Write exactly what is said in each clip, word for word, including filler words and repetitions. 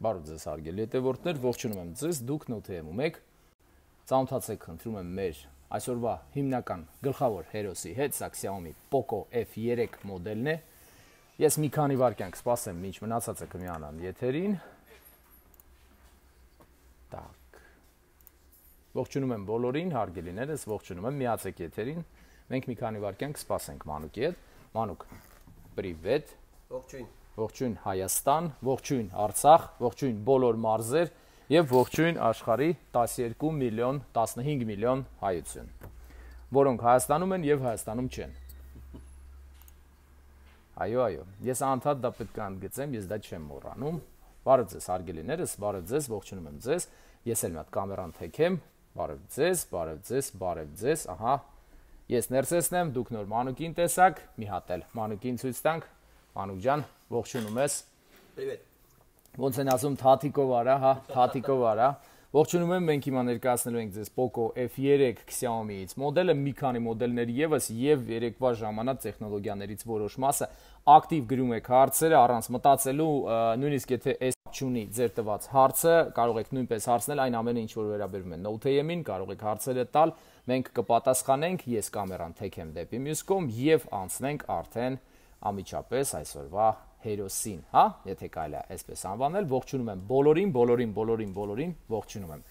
Բարև ձեզ հարգելի հետևորդներ, ողջունում եմ ձեզ, դուք նոթի եմ եք, ծանոթացեք խնդրում եմ մեր այսօրվա հիմնական գլխավոր հերոսի հետ, սա Xiaomi Poco F երեք մոդելն է, ես մի քանի վայրկյան կսպասեմ, մինչ մնացածը կմիանան եթերին, так, ողջունում եմ բոլորին, հարգելիներս, ողջունում եմ, միացեք եթերին, մենք մի քանի վայրկյան կսպասենք Մանուկի հետ, Մանուկ, պրիվետ, ողջույն Ողջույն Հայաստան, ողջույն Արցախ, ողջույն բոլոր մարզեր եւ ողջույն աշխարհի տասներկու միլիոն, տասնհինգ միլիոն հայություն, որոնք Հայաստանում են եւ Հայաստանում չեն։ Այո, այո, ես անդադ դա պետք է ընդգծեմ, ես դա չեմ մոռանում։ Բարև ձեզ հարգելիներս, բարև ձեզ, ողջունում եմ ձեզ։ Ես էլ մի հատ կամերան թեքեմ։ Բարև ձեզ, բարև ձեզ, բարև ձեզ, ահա։ Ես ներսեսնեմ, դուք նոր Մանուկին տեսաք, մի հատ էլ Մանուկին ցույց տանք։ Մանուկ ջան, ողջունում ես։ Պրիվետ։ Ոնց են ասում Թաթիկով արա, հա, Թաթիկով արա։ Ողջունում եմ, մենք հիմա ներկայացնելու ենք ձեզ Poco F երեք Xiaomi-ից մոդելը, մի քանի մոդելներ եւս եւ երեկվա ժամանակ տեխնոլոգիաներից որոշ մասը ակտիվ գրում եք հարցերը առանց մտածելու, նույնիսկ եթե այս չունի ձեր տված հարցը, կարող եք նույնպես հարցնել այն ամենը, ինչ որ վերաբերում է Note M-ին, կարող եք հարցերը տալ, մենք կպատասխանենք, ես կամերան թեքեմ դեպի մյուս կողմ եւ անցնենք արդեն ամիջապես այսօրվա հերոսին, հա, եթե կարելի է այսպես անվանել, ողջունում եմ բոլորին, բոլորին, բոլորին, բոլորին, ողջունում եմ։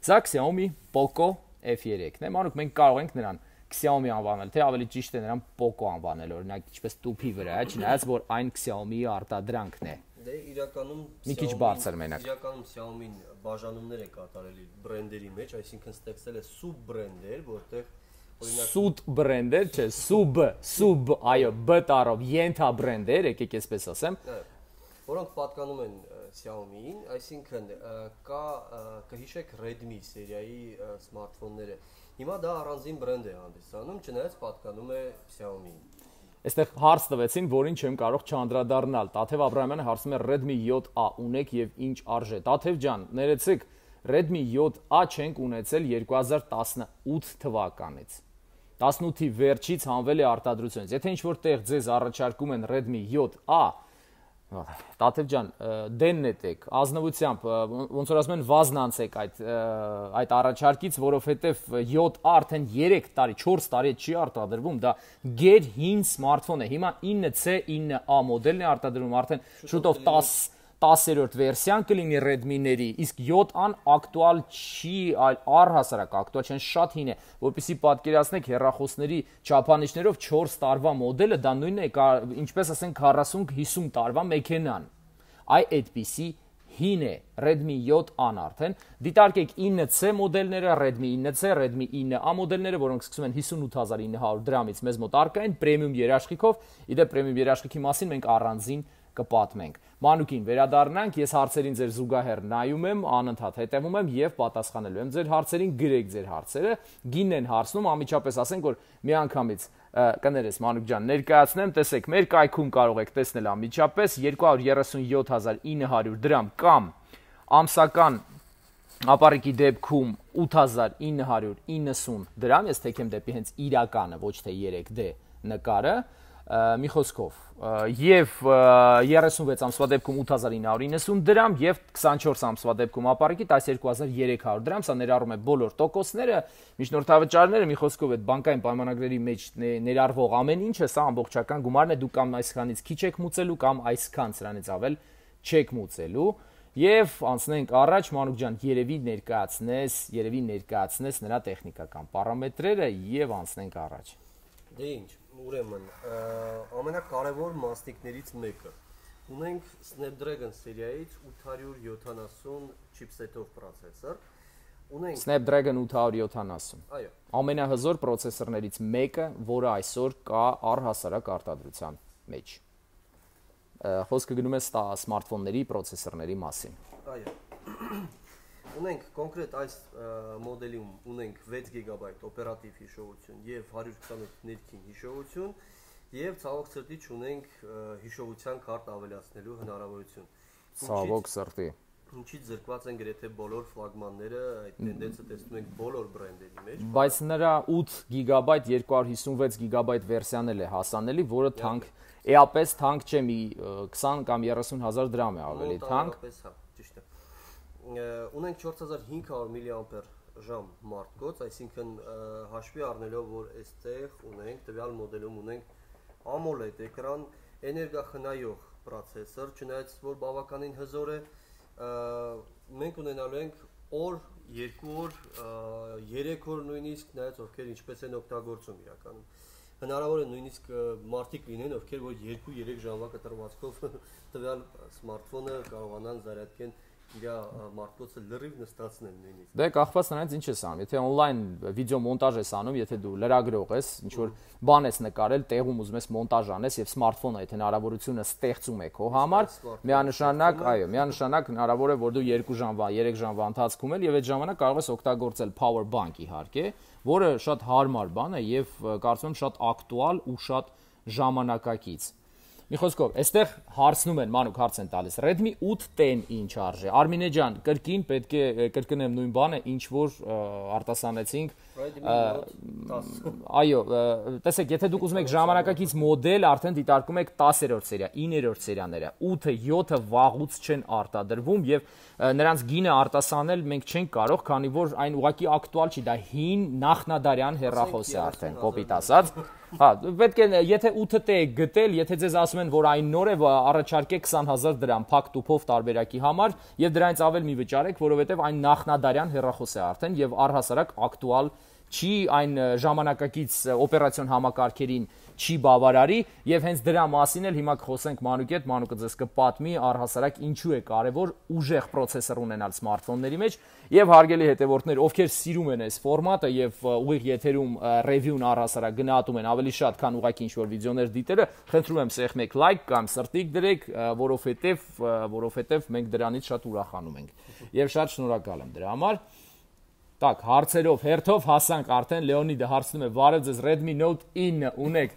Սա Xiaomi Poco F երեքն է, մանուկ մենք կարող ենք նրան Xiaomi անվանել, թե ավելի ճիշտ է նրան Poco անվանել, օրինակ ինչպես տուփի վրա, չնայած որ այն Xiaomi-ի արտադրանքն է։ Դե իրականում մի քիչ բարձր մենակ։ Իրականում Xiaomi-ն բաժանումներ է կատարել բրենդերի մեջ, այսինքն ստեղծել է սուբ բրենդեր, որտեղ Սուտ բրենդեր, չէ, սուբ, սուբ, այո, բ տառով, ենթա բրենդեր, եկեք այսպես ասեմ, որոնք պատկանում են Xiaomi-ին, այսինքն կա կհիշեք Redmi սերիայի սմարթֆոնները։ Հիմա դա առանձին բրենդ է հանդիսանում, չնայած պատկանում է Xiaomi-ին։ Այստեղ հարց տվեցին, որին չեմ կարող չանդրադառնալ։ Տաթև Աբրահամյանը հարցնում է Redmi յոթ A ունեք եւ ինչ արժե։ Տաթև ջան, ներեցեք, Redmi յոթ A չենք ունեցել երկու հազար տասնութ թվականից։ տասնութի վերջից հանվել է արտադրությունից։ Եթե ինչ-որ տեղ ձեզ առաջարկում են Redmi յոթ A, Տաթև ջան, դեն նետեք, ազնվությամբ, ոնց որ ասում են, վազնանցեք այդ այդ առաջարկից, որովհետև յոթ A արդեն երեք տարի, չորս տարի չի արտադրվում, դա գեր հին սմարթֆոն է։ Հիմա ինը C ինը A մոդելն է արտադրվում, արդեն շուտով տասերորդ վերսիան կլինի Redmi-ների, իսկ յոթ A-ն ակտուալ չի, այլ առհասարակ ակտուալ չեն, շատ հին է, որպեսզի պատկերացնեք հեռախոսների չափանիշներով չորս տարվա մոդելը, դա նույնն է, ինչպես ասենք քառասուն հիսուն տարվա մեքենան։ Այ այդպիսի հին է Redmi յոթ A-ն արդեն, դիտարկեք ինը C մոդելները, Redmi ինը C, Redmi ինը A մոդելները, որոնք սկսում են հիսունութ հազար ինը հարյուր դրամից մեզ մոտ առկա են, պրեմիում երաշխիքով, իդեպ պրեմիում երաշխիքի մասին մենք առանձին կպատմենք։ Մանուկին վերադառնանք, ես հարցերին ձեր զուգահեռ նայում եմ, անընդհատ հետևում եմ եւ պատասխանելու եմ ձեր հարցերին, գրեք ձեր հարցերը, գինն են հարցնում, ամիջապես ասենք որ միանգամից կներես Մանուկ ջան, ներկայացնեմ, տեսեք, մեր կայքում կարող եք տեսնել ամիջապես երկու հարյուր երեսունյոթ հազար ինը հարյուր դրամ կամ ամսական ապառիկի դեպքում ութ հազար ինը հարյուր իննսուն դրամ, ես թեքեմ դեպի հենց իրականը, ոչ թե երեք D նկարը, մի խոսքով, եւ երեսունվեց ամսվա դեպքում ութ հազար ինը հարյուր իննսուն դրամ եւ քսանչորս ամսվա դեպքում ապառիկի տասներկու հազար երեք հարյուր դրամ, սա ներառում է բոլոր տոկոսները, միջնորդավճարները, մի խոսքով այդ բանկային պայմանագրերի մեջ ներառվող ամեն ինչը, սա ամբողջական գումարն է, դուք կամ այսքանից քիչ եք մուծելու կամ այսքան սրանից ավել չեք մուծելու։ Եվ անցնենք առաջ, Մանուկ ջան, երևի ներկայացնես, երևի ներկայացնես նրա տեխնիկական պարամետրերը եւ անցնենք առաջ։ Դե ինչ, ուրեմն, ամենակարևոր մասնիկներից մեկը։ Ունենք Snapdragon սերիայից ութ հարյուր յոթանասուն չիպսետով պրոցեսոր։ Ունենք Snapdragon ութ հարյուր յոթանասուն։ Այո։ Ամենահզոր պրոցեսորներից մեկը, որը այսօր կա առհասարակ արտադրության մեջ։ Խոսքը գնում է սմարթֆոնների պրոցեսորների մասին։ Այո։ Ունենք կոնկրետ այս մոդելում ունենք վեց գիգաբայթ օպերատիվ հիշողություն եւ հարյուր քսանութ ներքին հիշողություն եւ ցավոք սրտի ունենք հիշողության քարտ ավելացնելու հնարավորություն։ Ցավոք սրտի։ Ինչից զրկված են գրեթե բոլոր ֆլագմանները, այդ տենդենսը տեսնում ենք բոլոր բրենդերի մեջ։ Բայց նրա ութ գիգաբայթ երկու հարյուր հիսունվեց գիգաբայթ վերսիան էլ է հասանելի, որը թանկ էապես թանկ չէ, մի քսան կամ երեսուն հազար դրամ է ավելի թանկ։ Հա, ճիշտ է։ ունենք չորս հազար հինգ հարյուր միլիամպեր ժամ մարտկոց, այսինքն հաշվի առնելով, որ այստեղ ունենք, տվյալ մոդելում ունենք AMOLED էկրան, էներգախնայող պրոցեսոր, չնայած որ բավականին հզոր է, մենք ունենալու ենք օր, երկու օր, երեք օր նույնիսկ, նայած ովքեր ինչպես են օգտագործում իրականում։ Հնարավոր է նույնիսկ մարդիկ լինեն, ովքեր որ երկու երեք ժամվա կտրվածքով տվյալ սմարթֆոնը կարողանան զարյատկեն իր մարտկոցը լրիվ նստացնել նույնիսկ։ Դե կախված նրանից ինչ ես անում, եթե on-line վիդեո մոնտաժ ես անում, եթե դու լրագրող ես, ինչ որ բան ես նկարել, տեղում ուզում ես մոնտաժ անես եւ սմարթֆոնը այդ հնարավորությունը ստեղծում է քո համար, միանշանակ, այո, միանշանակ հնարավոր է որ դու երկու ժամվա, երեք ժամվա ընթացքում էլ եւ այդ ժամանակ կարող ես օգտագործել power bank իհարկե, որը շատ հարմար բան է եւ կարծում եմ շատ ակտուալ ու շատ ժամանակակից։ Մի խոսքով, այստեղ հարցնում են, մանուկ հարց են տալիս, Redmi eight ten ինչ արժե։ Արմինե ջան, կրկին պետք է կրկնեմ նույն բանը, ինչ որ արտասանեցինք։ Այո, տեսեք, եթե դուք ուզում եք ժամանակակից մոդել, արդեն դիտարկում եք տասերորդ սերիա, իններորդ սերիաները, ութը, յոթը վաղուց չեն արտադրվում եւ նրանց գինը արտասանել մենք չենք կարող, քանի որ այն ուղղակի ակտուալ չի, դա հին նախնադարյան հեռախոս է արդեն, կոպիտ ասած։ Հա, պետք է, եթե ութ T եք գտել, եթե ձեզ ասում են, որ այն նոր է, առաջարկեք քսան հազար դրամ փակ տուփով տարբերակի համար եւ դրանից ավել մի վճարեք, որովհետեւ այն նախնադարյան հեռախոս է արդեն եւ առհասարակ ակտուալ չի, այն ժամանակակից օպերացիոն համակարգերին չի բավարարի եւ հենց դրա մասին էլ հիմա կխոսենք Մանուկի հետ, Մանուկը ձեզ կպատմի առհասարակ ինչու է կարեւոր ուժեղ պրոցեսոր ունենալ սմարթֆոնների մեջ եւ հարգելի հետեւորդներ, ովքեր սիրում են այս ֆորմատը եւ ուղիղ եթերում ռևյուն առհասարակ գնահատում են ավելի շատ, քան ուղղակի ինչ-որ վիդեոներ դիտելը, խնդրում եմ սեղմ եք լայք կամ սրտիկ դրեք, որովհետեւ որովհետեւ մենք դրանից շատ ուրախանում ենք եւ շատ շնորհակալ եմ դրա համար։ Так, հարցերով, հերթով հասանք արդեն Լեոնիդը հարցնում է, վարև ձեզ Redmi Note nine ունեք,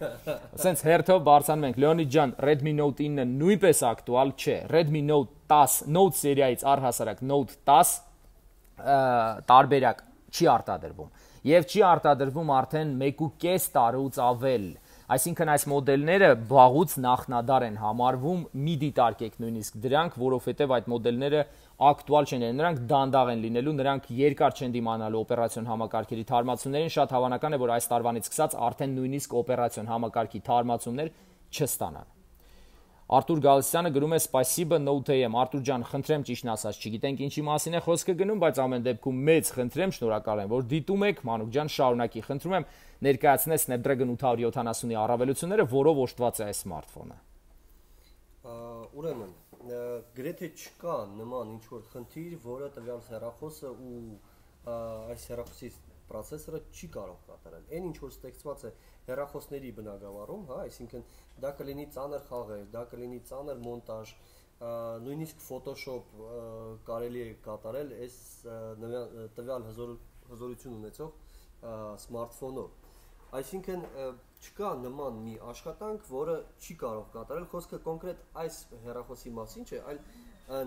ասենց հերթով բարձանում ենք, Լեոնիդ ջան, Redmi Note nine-ը նույնպես ակտուալ չէ, Redmi Note ten, Note սերիայից առհասարակ Note ten տարբերակ չի արտադրվում, եւ չի արտադրվում արդեն մեկ ու կես տարուց ավել, այսինքն այս մոդելները վաղուց նախնադար են համարվում, մի դիտարկեք նույնիսկ դրանք, որովհետեւ այդ մոդելները ակտուալ չեն, նրանք դանդաղ են լինելու, նրանք երկար չեն դիմանալու օպերացիոն համակարգերի թարմացումներին, շատ հավանական է, որ այս տարվանից սկսած արդեն նույնիսկ օպերացիոն համակարգի թարմացումներ չստանան։ Արտուր Գալստյանը գրում է Spasibo Note A M, Արտուր ջան, խնդրեմ ճիշտն ասած, չգիտենք ինչի մասին է խոսքը գնում, բայց ամեն դեպքում մեծ խնդրեմ, շնորհակալ եմ, որ դիտում եք, Մանուկ ջան, շարունակի, խնդրում եմ ներկայացնես Snapdragon eight seventy-ի առավելությունները, որով օժտված է այս սմարթֆոնը։ Ուրեմն գրեթե չկա նման ինչ-որ խնդիր, որը տվյալ հեռախոսը ու այս հեռախոսի պրոցեսորը չի կարող կատարել։ Այն ինչ որ ստեղծված է հեռախոսների բնագավառում, հա, այսինքն դա կլինի ծանր խաղեր, դա կլինի ծանր մոնտաժ, նույնիսկ Photoshop կարելի է կատարել այս տվյալ հզորություն ունեցող սմարթֆոնով։ Այսինքն չկա նման մի աշխատանք, որը չի կարող կատարել, խոսքը կոնկրետ այս հեռախոսի մասին չէ, այլ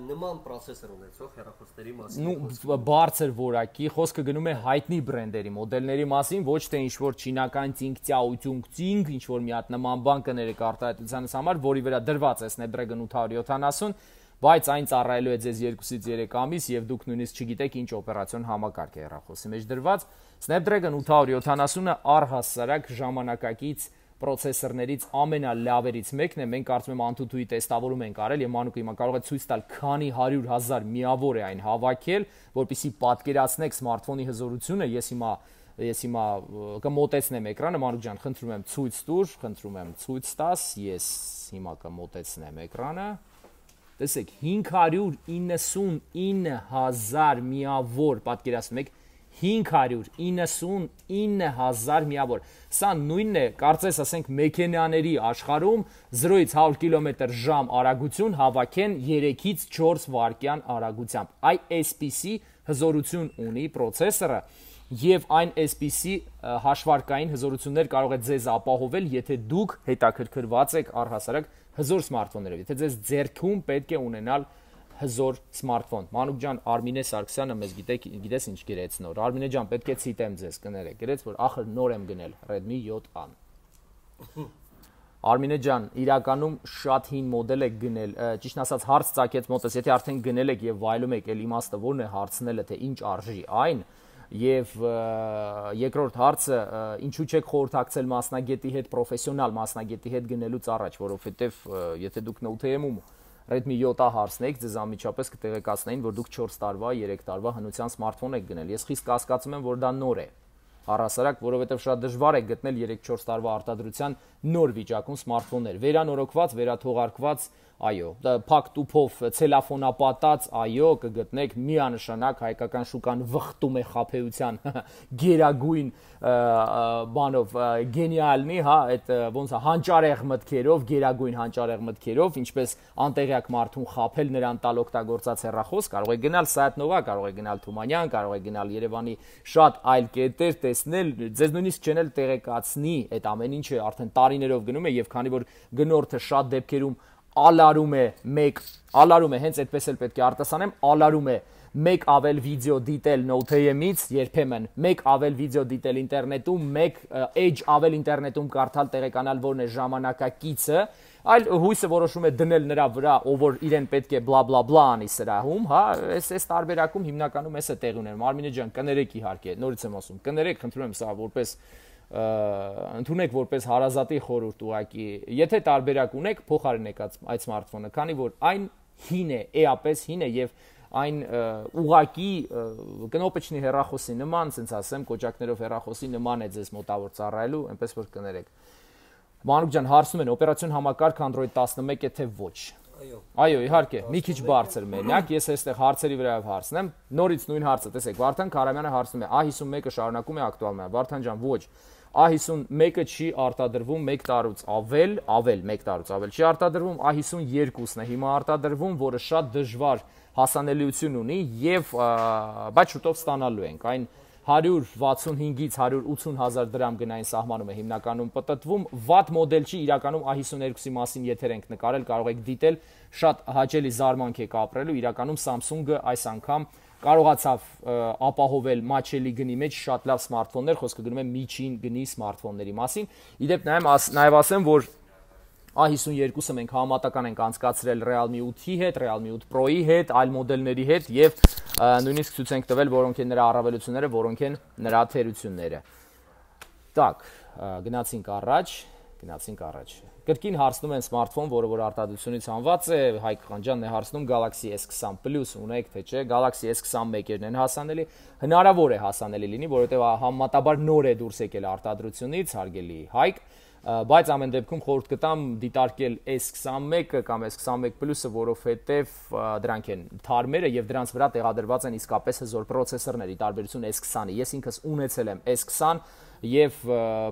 նման պրոցեսոր ունեցող հեռախոսների մասին։ Նու բարձր որակի, խոսքը գնում է հայտնի բրենդերի, մոդելների մասին, ոչ թե ինչ-որ չինական Tsingtao Chongqing, ինչ-որ մի հատ նման բան կներեք արտահայտությանս համար, որի վրա դրված է Snapdragon eight seventy, բայց այն ծառայելու է ձեզ երկուսից երեք ամիս եւ դուք նույնիսկ չգիտեք ինչ օպերացիոն համակարգ է հեռախոսի մեջ դրված։ Snapdragon eight seventy-ը առհասարակ ժամանակակից պրոցեսորներից ամենալավերից մեկն է, մենք կարծում եմ անթութուի տեստավորում ենք արել եւ Մանուկը հիմա կարող է ցույց տալ քանի հարյուր հազար միավոր է այն հավաքել, որպեսզի պատկերացնեք սմարթֆոնի հզորությունը։ Ես հիմա ես հիմա կմոտեցնեմ էկրանը, Մանուկ ջան, խնդրում եմ ցույց տուր, խնդրում եմ ցույց տաս, ես հիմա կմոտեցնեմ էկրանը։ Տեսեք, հինգ հարյուր իննսունինը հազար միավոր, պատկերացնում եք, հինգ հարյուր իննսունինը հազար միավոր։ Սա նույնն է, կարծես ասենք մեքենաների աշխարհում զրոյից հարյուր կիլոմետր ժամ արագություն հավաքեն երեքից չորս վայրկյան արագությամբ։ Այ այսպիսի հզորություն ունի պրոցեսորը եւ այն այսպիսի հաշվարկային հզորություններ կարող է ձեզ ապահովել, եթե դուք հետաքրքրված եք առհասարակ հզոր սմարթֆոններով, եթե ձեզ ձեռքում պետք է ունենալ հզոր սմարթֆոն։ Մանուկ ջան, Արմինե Սարգսյանը մեզ գիտեք, գիտես ինչ գրեց նոր։ Արմինե ջան, պետք է ցիտեմ ձեզ, կներեք, գրեց, որ ախր նոր եմ գնել Redmi seven A. Արմինե ջան, իրականում շատ հին մոդել եք գնել, ճիշտ ասած հարց ծագեց մոտս, եթե արդեն գնել եք եւ վայելում եք, էլ իմաստը ո՞րն է հարցնելը, թե ինչ արժի այն, եւ երկրորդ հարցը, ինչու չեք խորհրդակցել մասնագետի հետ, պրոֆեսիոնալ մասնագետի հետ գնելուց առաջ, որովհետեւ եթե դուք Note M-ում Redmi seven A հարցնեիք, ձեզ անմիջապես կտեղեկացնեին, որ դուք չորս տարվա, երեք տարվա հնության սմարթֆոն եք գնել։ Ես խիստ կասկածում եմ, որ դա նոր է։ Առհասարակ, որովհետև շատ դժվար է գտնել երեք-չորս տարվա արտադրության նոր վիճակում սմարթֆոններ, վերանորոգված, վերաթողարկված, այո, փակ տուփով ցելոֆոնապատած, այո, կգտնեք միանշանակ հայկական շուկան վխտում է խաբեության գերագույն բանով, գենիալնի, հա, այդ ոնց է հանճարեղ մտքերով, գերագույն հանճարեղ մտքերով, ինչպես անտեղյակ մարդուն խաբել նրան տալ օգտագործած հեռախոս, կարող է գնալ Սայաթնովա, կարող է գնալ Թումանյան, կարող է գնալ Երևանի շատ այլ կետեր տեսնել, ձեզ նույնիսկ չեն էլ տեղեկացնի, այդ ամեն ինչը արդեն տարիներով գնում է եւ քանի որ գնորդը շատ դեպքերում ալարում է մեկ, ալարում է, հենց այդպես էլ պետք է արտասանեմ, ալարում է մեկ ավել վիդեո դիտել Note M-ից, երբեմն մեկ ավել վիդեո դիտել ինտերնետում, մեկ edge ավել ինտերնետում կարդալ տեղեկանալ որն է ժամանակակիցը, այլ հույսը որոշում է դնել նրա վրա, ով որ իրեն պետք է բլա բլա բլա անի սրահում, հա, այս այս տարբերակում հիմնականում էս է տեղի ունենում։ Արմինե ջան, կներեք իհարկե, նորից եմ ասում, կներեք, խնդրում եմ սա որպես ընդունեք որպես հարազատի խորհուրդ ուղակի, եթե տարբերակ ունեք, փոխարինեք այդ սմարթֆոնը, քանի որ այն հին է, էապես հին է եւ այն ուղակի կնոպեչնի հեռախոսի նման, ասենց ասեմ, կոճակներով հեռախոսի նման է ձեզ մոտավոր ծառայելու, այնպես որ կներեք։ Մանուկ ջան, հարցնում են, օպերացիոն համակարգ Android տասնմեկ է թե ոչ։ Այո։ Այո, իհարկե, մի քիչ բարձր մենակ, ես այստեղ հարցերի վրայով հարցնեմ, նորից նույն հարցը, տեսեք, Վարդան Քարամյանը հարցնում է, A fifty-one-ը շարունակում է ակտուալ մնալ։ Վարդան ջան, ոչ։ A fifty-one-ը չի արտադրվում մեկ տարուց ավել, ավել մեկ տարուց ավել չի արտադրվում, A fifty-two-ն է հիմա արտադրվում, որը շատ դժվար հասանելիություն ունի եւ բայց շուտով ստանալու ենք։ Այն one sixty-five-ից one eighty հազար դրամ գնային սահմանում է հիմնականում պտտվում, վատ մոդել չի, իրականում A fifty-two-ի մասին եթեր ենք նկարել, կարող եք դիտել, շատ հաճելի զարմանք եք ապրելու, իրականում Samsung-ը այս անգամ կարողացավ ապահովել մաչելի գնի մեջ շատ լավ սմարթֆոններ, խոսքը գնում է միջին գնի սմարթֆոնների մասին։ Իդեպ նաև ասեմ, որ A fifty-two-ը մենք համատական ենք անցկացրել Realme eight-ի հետ, Realme eight Pro-ի հետ, այլ մոդելների հետ եւ նույնիսկ ցույց ենք տվել, որոնք են նրա առավելությունները, որոնք են նրա թերությունները։ Так, գնացինք առաջ, գնացինք առաջ։ Կրկին հարցնում են սմարթֆոն, որը որ արտադրությունից հանված է, Հայկ Խանջյանն է հարցնում Galaxy S twenty Plus ունեք թե չէ, Galaxy S twenty-one-երն են հասանելի, հնարավոր է հասանելի լինի, որովհետև համեմատաբար նոր է դուրս եկել արտադրությունից, հարգելի Հայկ, բայց ամեն դեպքում խորհուրդ կտամ դիտարկել S twenty-one-ը կամ S twenty-one Plus-ը, որովհետև դրանք են թարմերը եւ դրանց վրա տեղադրված են իսկապես հզոր պրոցեսորներ, ի տարբերություն S twenty-ի։ Ես ինքս ունեցել եմ S twenty եւ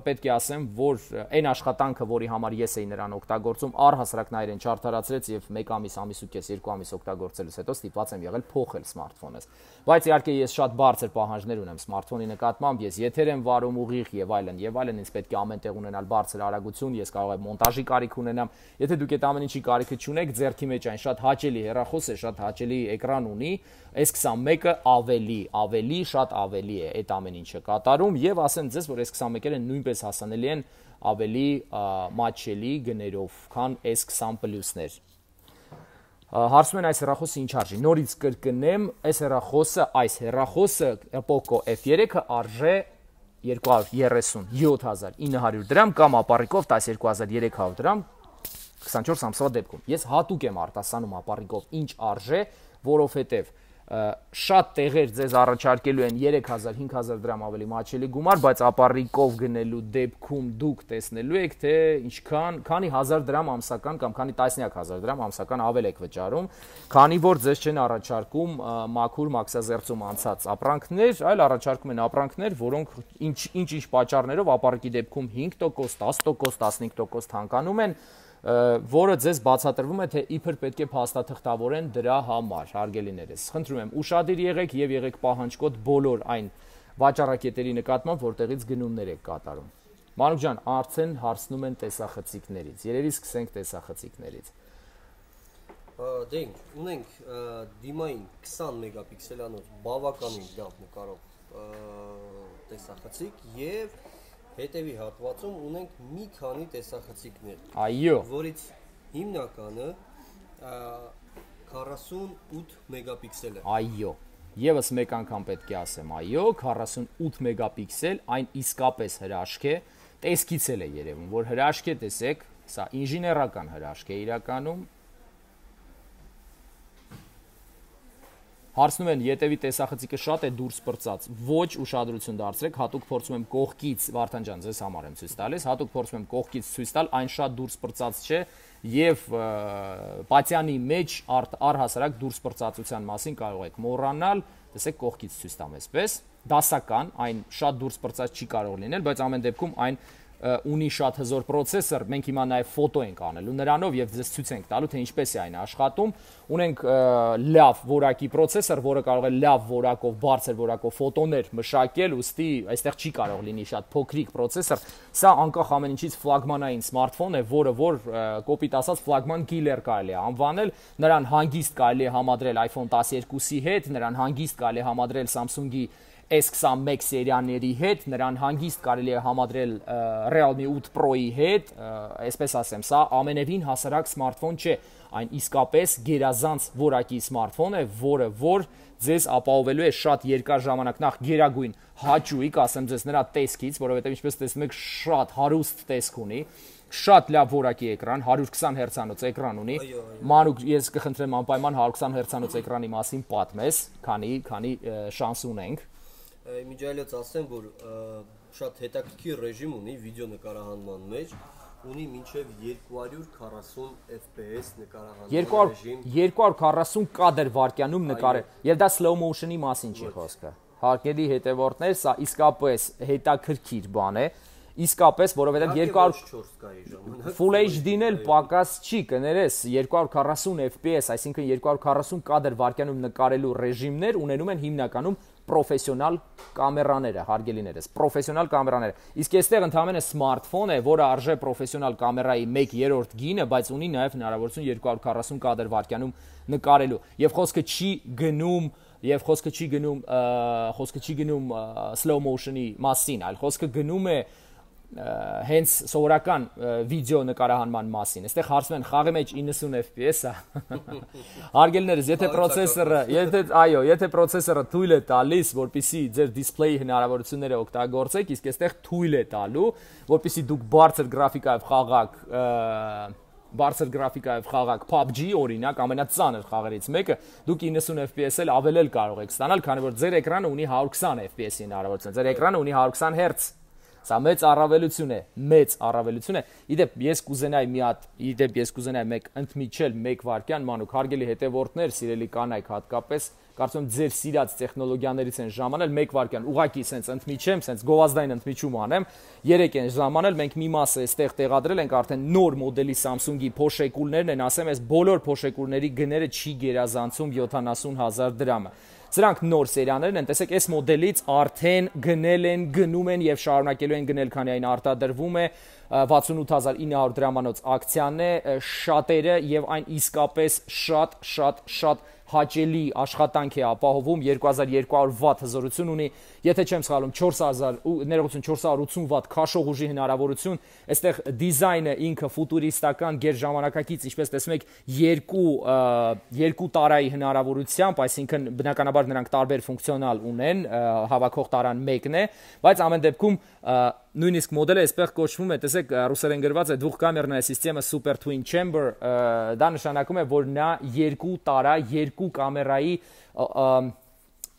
պետք է ասեմ, որ այն աշխատանքը, որի համար ես էի նրան օգտագործում, առհասարակ նա իրեն չարդարացրեց եւ մեկ ամիս, ամիս ու կես, երկու ամիս օգտագործելուց հետո ստիպված եմ եղել փոխել սմարթֆոնս։ Բայց իհարկե ես շատ բարձր պահանջներ ունեմ սմարթֆոնի նկատմամբ, ես եթեր եմ վարում ուղիղ եւ այլն եւ այլն, ինձ պետք է ամենտեղ ունենալ բարձր արագություն, ես կարող եմ մոնտաժի կարիք ունենամ։ Եթե դուք այդ ամեն ինչի կարիքը չունեք, ձեռքի մեջ այն շատ հաճելի հեռախոս է, շատ հաճելի էկրան ունի, S twenty-one-ը ավելի, ավելի, շատ ավելի է այդ ամեն ինչը կատարում եւ ասեմ ձեզ, որ S twenty-one-երը նույնպես հասանելի են ավելի մատչելի գներով, քան S twenty Plus-ներ։ Հարցում են այս հեռախոսը ինչ արժի։ Նորից կրկնեմ, այս հեռախոսը, այս հեռախոսը Poco F three-ը արժե two hundred thirty-seven հազար nine hundred դրամ կամ ապառիկով տասնյոթ հազար երեք հարյուր դրամ twenty-four ամսվա դեպքում։ Ես հատուկ եմ արտասանում ապառիկով ինչ արժե, որովհետև շատ տեղեր ձեզ առաջարկելու են երեք հազար cinque հազար դրամ ավելի մաչելի գումար, բայց ապառիկով գնելու դեպքում դուք տեսնելու եք, թե ինչքան, քանի հազար դրամ ամսական կամ քանի տասնյակ հազար դրամ ամսական ավել եք վճարում, քանի որ ձեզ չեն առաջարկում մաքուր մաքսազերծում անցած ապրանքներ, այլ առաջարկում են ապրանքներ, որոնք ինչ-ինչ պատճառներով ապառիկի դեպքում five տոկոս, ten տոկոս, fifteen տոկոս թանկանում են, որը ձեզ բացատրվում է, թե իբր պետք է փաստաթղթավորեն դրա համար, հարգելիներս։ Խնդրում եմ, ուշադիր եղեք եւ եղեք պահանջկոտ բոլոր այն վաճառակետերի նկատմամբ, որտեղից գնումներ եք կատարում։ Մանուկ ջան, արդեն հարցնում են տեսախցիկներից։ Երևի սկսենք տեսախցիկներից։ Դե ունենք դիմային twenty մեգապիքսելանոց բավականին լավ նկարող տեսախցիկ եւ հետևի հատվածում ունենք մի քանի տեսախցիկներ, այո, որից հիմնականը քառասունութ մեգապիքսել է։ Այո, եւս մեկ անգամ պետք է ասեմ, այո, քառասունութ մեգապիքսել, այն իսկապես հրաշք է, տեսքից էլ է երևում, որ հրաշք է, տեսեք, սա ինժեներական հրաշք է իրականում։ Հարցնում են, ետևի տեսախցիկը շատ է դուրս պրծած, ոչ ուշադրություն դարձրեք, հատուկ փորձում եմ կողքից, Վարդան ջան, ձեզ համար եմ ցույց տալիս, հատուկ փորձում եմ կողքից ցույց տալ, այն շատ դուրս պրծած չէ եւ պատյանի մեջ առհասարակ դուրս պրծածության մասին կարող եք մոռանալ, տեսեք կողքից ցույց տամ այսպես, դասական, այն շատ դուրս պրծած չի կարող լինել, բայց ամեն դեպքում այն ունի շատ հզոր պրոցեսոր, մենք հիմա նաև ֆոտո ենք անելու նրանով եւ ձեզ ցույց ենք տալու թե ինչպես է այն աշխատում։ Ունենք լավ որակի պրոցեսոր, որը կարող է լավ որակով, բարձր որակով ֆոտոներ մշակել, ուստի այստեղ չի կարող լինի շատ փոքրիկ պրոցեսոր։ Սա անկախ ամեն ինչից ֆլագմանային սմարթֆոն է, որը որ կոպիտ ասած ֆլագման կիլեր կարելի է անվանել, նրան հանգիստ կարելի է համադրել iPhone տասներկուսի հետ, նրան հանգիստ կարելի է համադրել Samsung-ի S twenty-one սերիաների հետ, նրան հանգիստ կարելի է համադրել Realme eight Pro-ի հետ, այսպես ասեմ, սա ամենևին հասարակ սմարթֆոն չէ, այն իսկապես գերազանց որակի սմարթֆոն է, որը որ ձեզ ապահովելու է շատ երկար ժամանակ, նախ գերագույն հաճույք, ասեմ ձեզ նրա տեսքից, որովհետև ինչպես տեսնում եք, շատ հարուստ տեսք ունի, շատ լավ որակի էկրան, one twenty հերցանոց էկրան ունի։ Մանուկ, ես կխնդրեմ անպայման one twenty հերցանոց էկրանի մասին պատմես, քանի քանի շանս ունենք։ Միջայլոց ասեմ, որ շատ հետաքրքիր ռեժիմ ունի վիդեո նկարահանման մեջ, ունի մինչև two forty F P S նկարահանման ռեժիմ, two forty կադր վայրկյանում նկարել, եւ դա slow motion-ի մասին չի խոսքը։ Հարգելի հետևորդներ, սա իսկապես հետաքրքիր բան է, իսկապես, որովհետև two forty Full H D-ն էլ պակաս չի, կներես, two forty F P S, այսինքն two forty կադր վայրկյանում նկարելու ռեժիմներ ունենում են հիմնականում պրոֆեսիոնալ կամերաները, հարգելիներս, պրոֆեսիոնալ կամերաները։ Իսկ այստեղ ընդհանրապես սմարթֆոն է, որը արժե պրոֆեսիոնալ կամերայի one երրորդ գինը, բայց ունի նաև հնարավորություն two forty կադր վայրկյանում նկարելու։ Եվ խոսքը չի գնում, եւ խոսքը չի գնում, խոսքը չի գնում slow motion-ի մասին, այլ խոսքը գնում է հենց սովորական վիդեո նկարահանման մասին։ Այստեղ հարցնում են խաղի մեջ ninety F P S-ը։ Հարգելիներս, եթե պրոցեսորը, եթե այո, եթե պրոցեսորը թույլ է տալիս, որպեսզի ձեր դիսպլեյի հնարավորությունները օգտագործեք, իսկ այստեղ թույլ է տալու, որպեսզի դուք բարձր գրաֆիկայով խաղաք, բարձր գրաֆիկայով խաղաք P U B G օրինակ, ամենածանր խաղերից մեկը, դուք ninety F P S էլ ավելել կարող եք ստանալ, քանի որ ձեր էկրանը ունի one twenty F P S-ի հնարավորություն։ Ձեր էկրանը ունի one twenty Hz։ Սա մեծ առավելություն է, մեծ առավելություն է։ Իդեպ ես կուզենայի մի հատ, իդեպ ես կուզենայի մեկ ընդմիջել մեկ վայրկյան, մանուկ հարգելի հետևորդներ, սիրելի կանայք հատկապես, կարծում եմ ձեր սիրած տեխնոլոգիաներից են ժամանել մեկ վայրկյան, ուղղակի սենց ընդմիջեմ, սենց գովազդային ընդմիջում անեմ, երեք են ժամանել, մենք մի մասը այստեղ տեղադրել ենք արդեն նոր մոդելի Samsung-ի փոշեկուլներն են, ասեմ, այս բոլոր փոշեկուլների գները չի գերազանցում յոթանասուն հազար դրամը։ Սրանք նոր սերիաներն են, տեսեք, այս մոդելից արդեն գնել են, գնում են եւ շարունակելու են գնել, քանի այն արտադրվում է վաթսունութ հազար ինը հարյուր դրամանոց ակցիան է, շատերը եւ այն իսկապես շատ շատ շատ հաճելի աշխատանք է ապահովում, two thousand two hundred վատ հզորություն ունի, եթե չեմ սխալվում four thousand ներողություն four hundred eighty վատ քաշող ուժի հնարավորություն, այստեղ դիզայնը ինքը ֆուտուրիստական գերժամանակակից, ինչպես տեսնում եք, երկու երկու տարայի հնարավորությամբ, այսինքն բնականաբար նրանք տարբեր ֆունկցիոնալ ունեն, հավաքող տարան մեկն է, բայց ամեն դեպքում նույնիսկ մոդելը այսպես կոչվում է, տեսեք, ռուսերեն գրված է двухкамерная система Super Twin Chamber, դա նշանակում է, որ նա երկու տարա, երկու կամերայի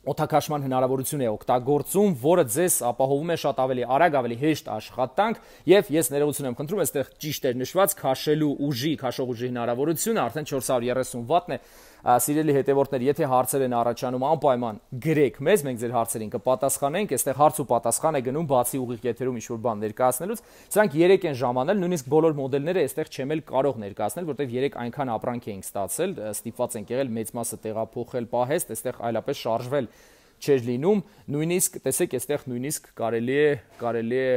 օդակաշման հնարավորություն է օգտագործում, որը ձեզ ապահովում է շատ ավելի արագ, ավելի հեշտ աշխատանք, եւ ես ներողություն եմ խնդրում, այստեղ ճիշտ էր նշված քաշելու ուժի, քաշող ուժի հնարավորությունը արդեն four hundred thirty վատն է։ Սիրելի հետևորդներ, եթե հարցեր են առաջանում, անպայման գրեք մեզ, մենք ձեր հարցերին կպատասխանենք, այստեղ հարց ու պատասխան է գնում բացի ուղիղ եթերում ինչ-որ բան ներկայացնելուց։ Սրանք երեք են ժամանել, նույնիսկ բոլոր մոդելները այստեղ չեմ էլ կարող ներկայացնել, որտեղ երեք այնքան ապրանք էինք ստացել, ստիպված ենք եղել մեծ մասը տեղափոխել պահեստ, այստեղ այլապես շարժվել չէր լինում, նույնիսկ տեսեք, այստեղ նույնիսկ կարելի է կարելի է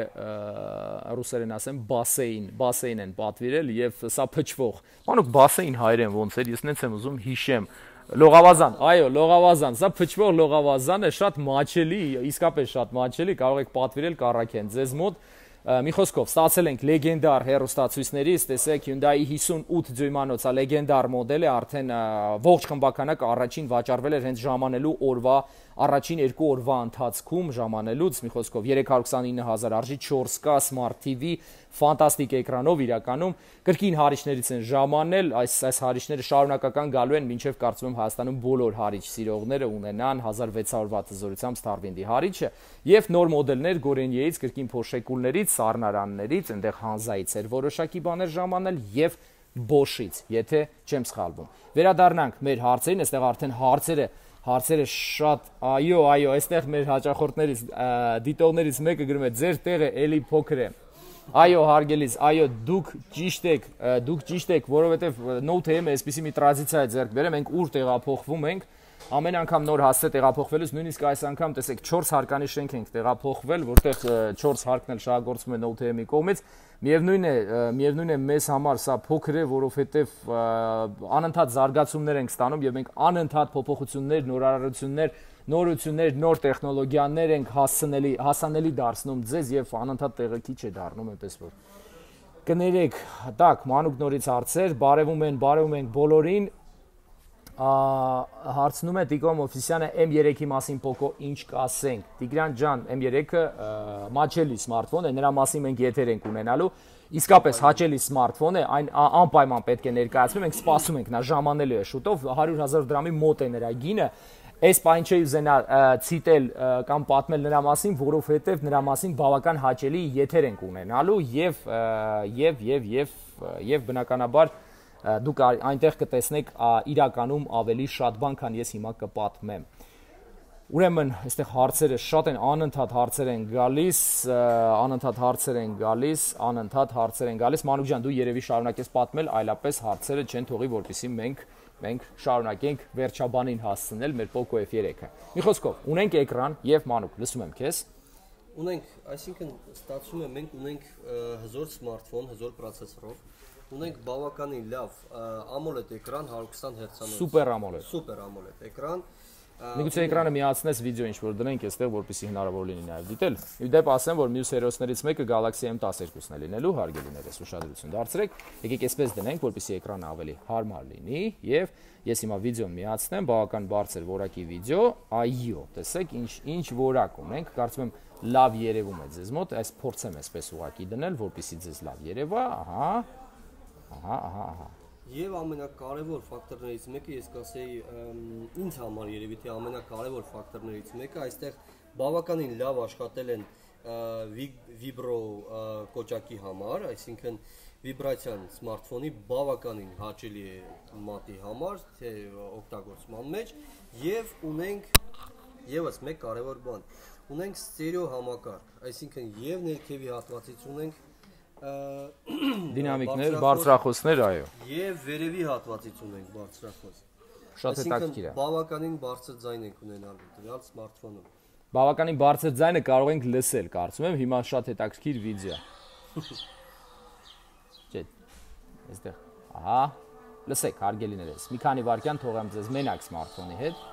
ռուսերեն ասեմ բասեին, բասեին են պատվիրել եւ սա փչվող։ Մանուկ բասեին հայերեն ոնց էր, ես նենց եմ ուզում հիշեմ։ Լողավազան, այո, լողավազան, սա փչվող լողավազան է, շատ մաչելի, իսկապես շատ մաչելի, կարող եք պատվիրել կառաքեն ձեզ մոտ։ Մի խոսքով, ստացել ենք լեգենդար հեռուստացույցներից, տեսեք Hyundai հիսունութ ձույմանոց է լեգենդար մոդել է, արդեն ողջ խմբականակը առաջին վաճառվել էր հենց ժամանելու օրվա առաջին երկու օրվա ընթացքում ժամանելուց, մի խոսքով երեք հարյուր քսանինը հազար արժի, չորս կա Smart T V, ֆանտաստիկ էկրանով իրականում, կրկին հարիչներից են ժամանել, այս այս հարիչները շարունակական գալու են, մինչև կարծում եմ Հայաստանում բոլոր հարիչ սիրողները ունենան հազար վեց հարյուր վատ զորությամբ Starwind-ի հարիչը, եւ նոր մոդելներ Gorenje-ից, կրկին Porsche-կուլներից, Սառնարաններից, այնտեղ Հանզայից էր որոշակի բաներ ժամանել եւ Bosch-ից, եթե չեմ սխալվում։ Վերադառնանք մեր հարցերին, այստեղ արդեն հարցերը Հարցերը շատ, այո, այո, այստեղ մեր հաճախորդներից, դիտողներից մեկը գրում է, ձեր տեղը էլի փոքր է։ Այո, հարգելիս, այո, դուք ճիշտ եք, դուք ճիշտ եք, որովհետև Note M-ը այսպիսի մի տրադիցիա է ձեռք բերել, մենք ուր տեղափոխվում ենք, ամեն անգամ նոր հասցե տեղափոխվելուց, նույնիսկ այս անգամ տեսեք չորս հարկանի շենք ենք տեղափոխվել, որտեղ չորս հարկն էլ շահագործվում է Note M-ի կողմից։ Միևնույն է, միևնույն է մեզ համար սա փոքր է, որովհետև անընդհատ զարգացումներ ենք ստանում եւ մենք անընդհատ փոփոխություններ, նորարարություններ, նորություններ, նոր տեխնոլոգիաներ ենք հասանելի, հասանելի դարձնում ձեզ եւ անընդհատ տեղը քիչ է դառնում, այնպես որ կներեք, տակ, մանուկ նորից հարցեր, բարևում են, բարևում ենք բոլորին։ Հարցնում է Տիկո Մովսիսյանը M երեքի մասին Poco ինչ կասենք։ Տիգրան ջան, M երեքը մաչելի սմարթֆոն է, նրա մասին մենք եթեր ենք ունենալու։ Իսկապես հաճելի սմարթֆոն է, այն անպայման պետք է ներկայացվի, մենք սպասում ենք, նա ժամանելու է շուտով, հարյուր հազար դրամի մոտ է նրա գինը։ Այս բան չի ուզենա ցիտել կամ պատմել նրա մասին, որովհետև նրա մասին բավական հաճելի եթեր ենք ունենալու եւ եւ եւ եւ եւ բնականաբար դուք այնտեղ կտեսնեք իրականում ավելի շատ բան, քան ես հիմա կպատմեմ։ Ուրեմն, այստեղ հարցերը շատ են, անընդհատ հարցեր են գալիս, անընդհատ հարցեր են գալիս, անընդհատ հարցեր են գալիս։ Մանուկ ջան, դու երևի շարունակես պատմել, այլապես հարցերը չեն թողի, որպեսզի մենք մենք շարունակենք վերջաբանին հասցնել մեր Poco F երեքը։ Մի խոսքով, ունենք էկրան եւ Մանուկ, լսում եմ քեզ։ Ունենք, այսինքն ստացվում է մենք ունենք հզոր սմարթֆոն, հզոր պրոցեսորով, ունենք բավականին լավ AMOLED էկրան հարյուր քսան հերցանոց։ Սուպեր AMOLED։ Սուպեր AMOLED էկրան։ Միգուցե էկրանը միացնես վիդեո ինչ որ դնենք այստեղ, որպեսզի հնարավոր լինի նաև դիտել։ Ի դեպ ասեմ, որ մյուս հերոսներից մեկը Galaxy M տասներկուսն է լինելու, հարգելիներս ուշադրություն դարձրեք։ Եկեք այսպես դնենք, որպեսզի էկրանը ավելի հարմար լինի եւ ես հիմա վիդեոն միացնեմ, բավական բարձր որակի վիդեո, այո, տեսեք ինչ ինչ որակ ունենք, կարծում եմ լավ երևում է ձեզ մոտ, այս փորձեմ այսպես ուղակի դնել, որպեսզի ձեզ լավ երևա, ահա, ահա, ահա, ահա։ Եվ ամենակարևոր ֆակտորներից մեկը ես կասեի ինձ համար երևի թե ամենակարևոր ֆակտորներից մեկը այստեղ բավականին լավ աշխատել են Vibro կոճակի համար, այսինքն վիբրացիան սմարթֆոնի բավականին հաճելի է մատի համար, թե օգտագործման մեջ եւ ունենք եւս մեկ կարևոր բան, ունենք ստերեո համակարգ, այսինքն եւ ներքևի հատվածից ունենք դինամիկներ, բարձրախոսներ, այո։ Եվ վերևի հատվածից ունենք բարձրախոս։ Շատ հետաքրքիր է։ Բավականին բարձր ձայն ենք ունենալու դրալ սմարթֆոնում։ Բավականին բարձր ձայնը կարող ենք լսել, կարծում եմ, հիմա շատ հետաքրքիր վիդեո։ Չէ, այստեղ, ահա, լսեք, հարգելիներս, մի քանի վայրկյան թողեմ ձեզ մենակ սմարթֆոնի հետ։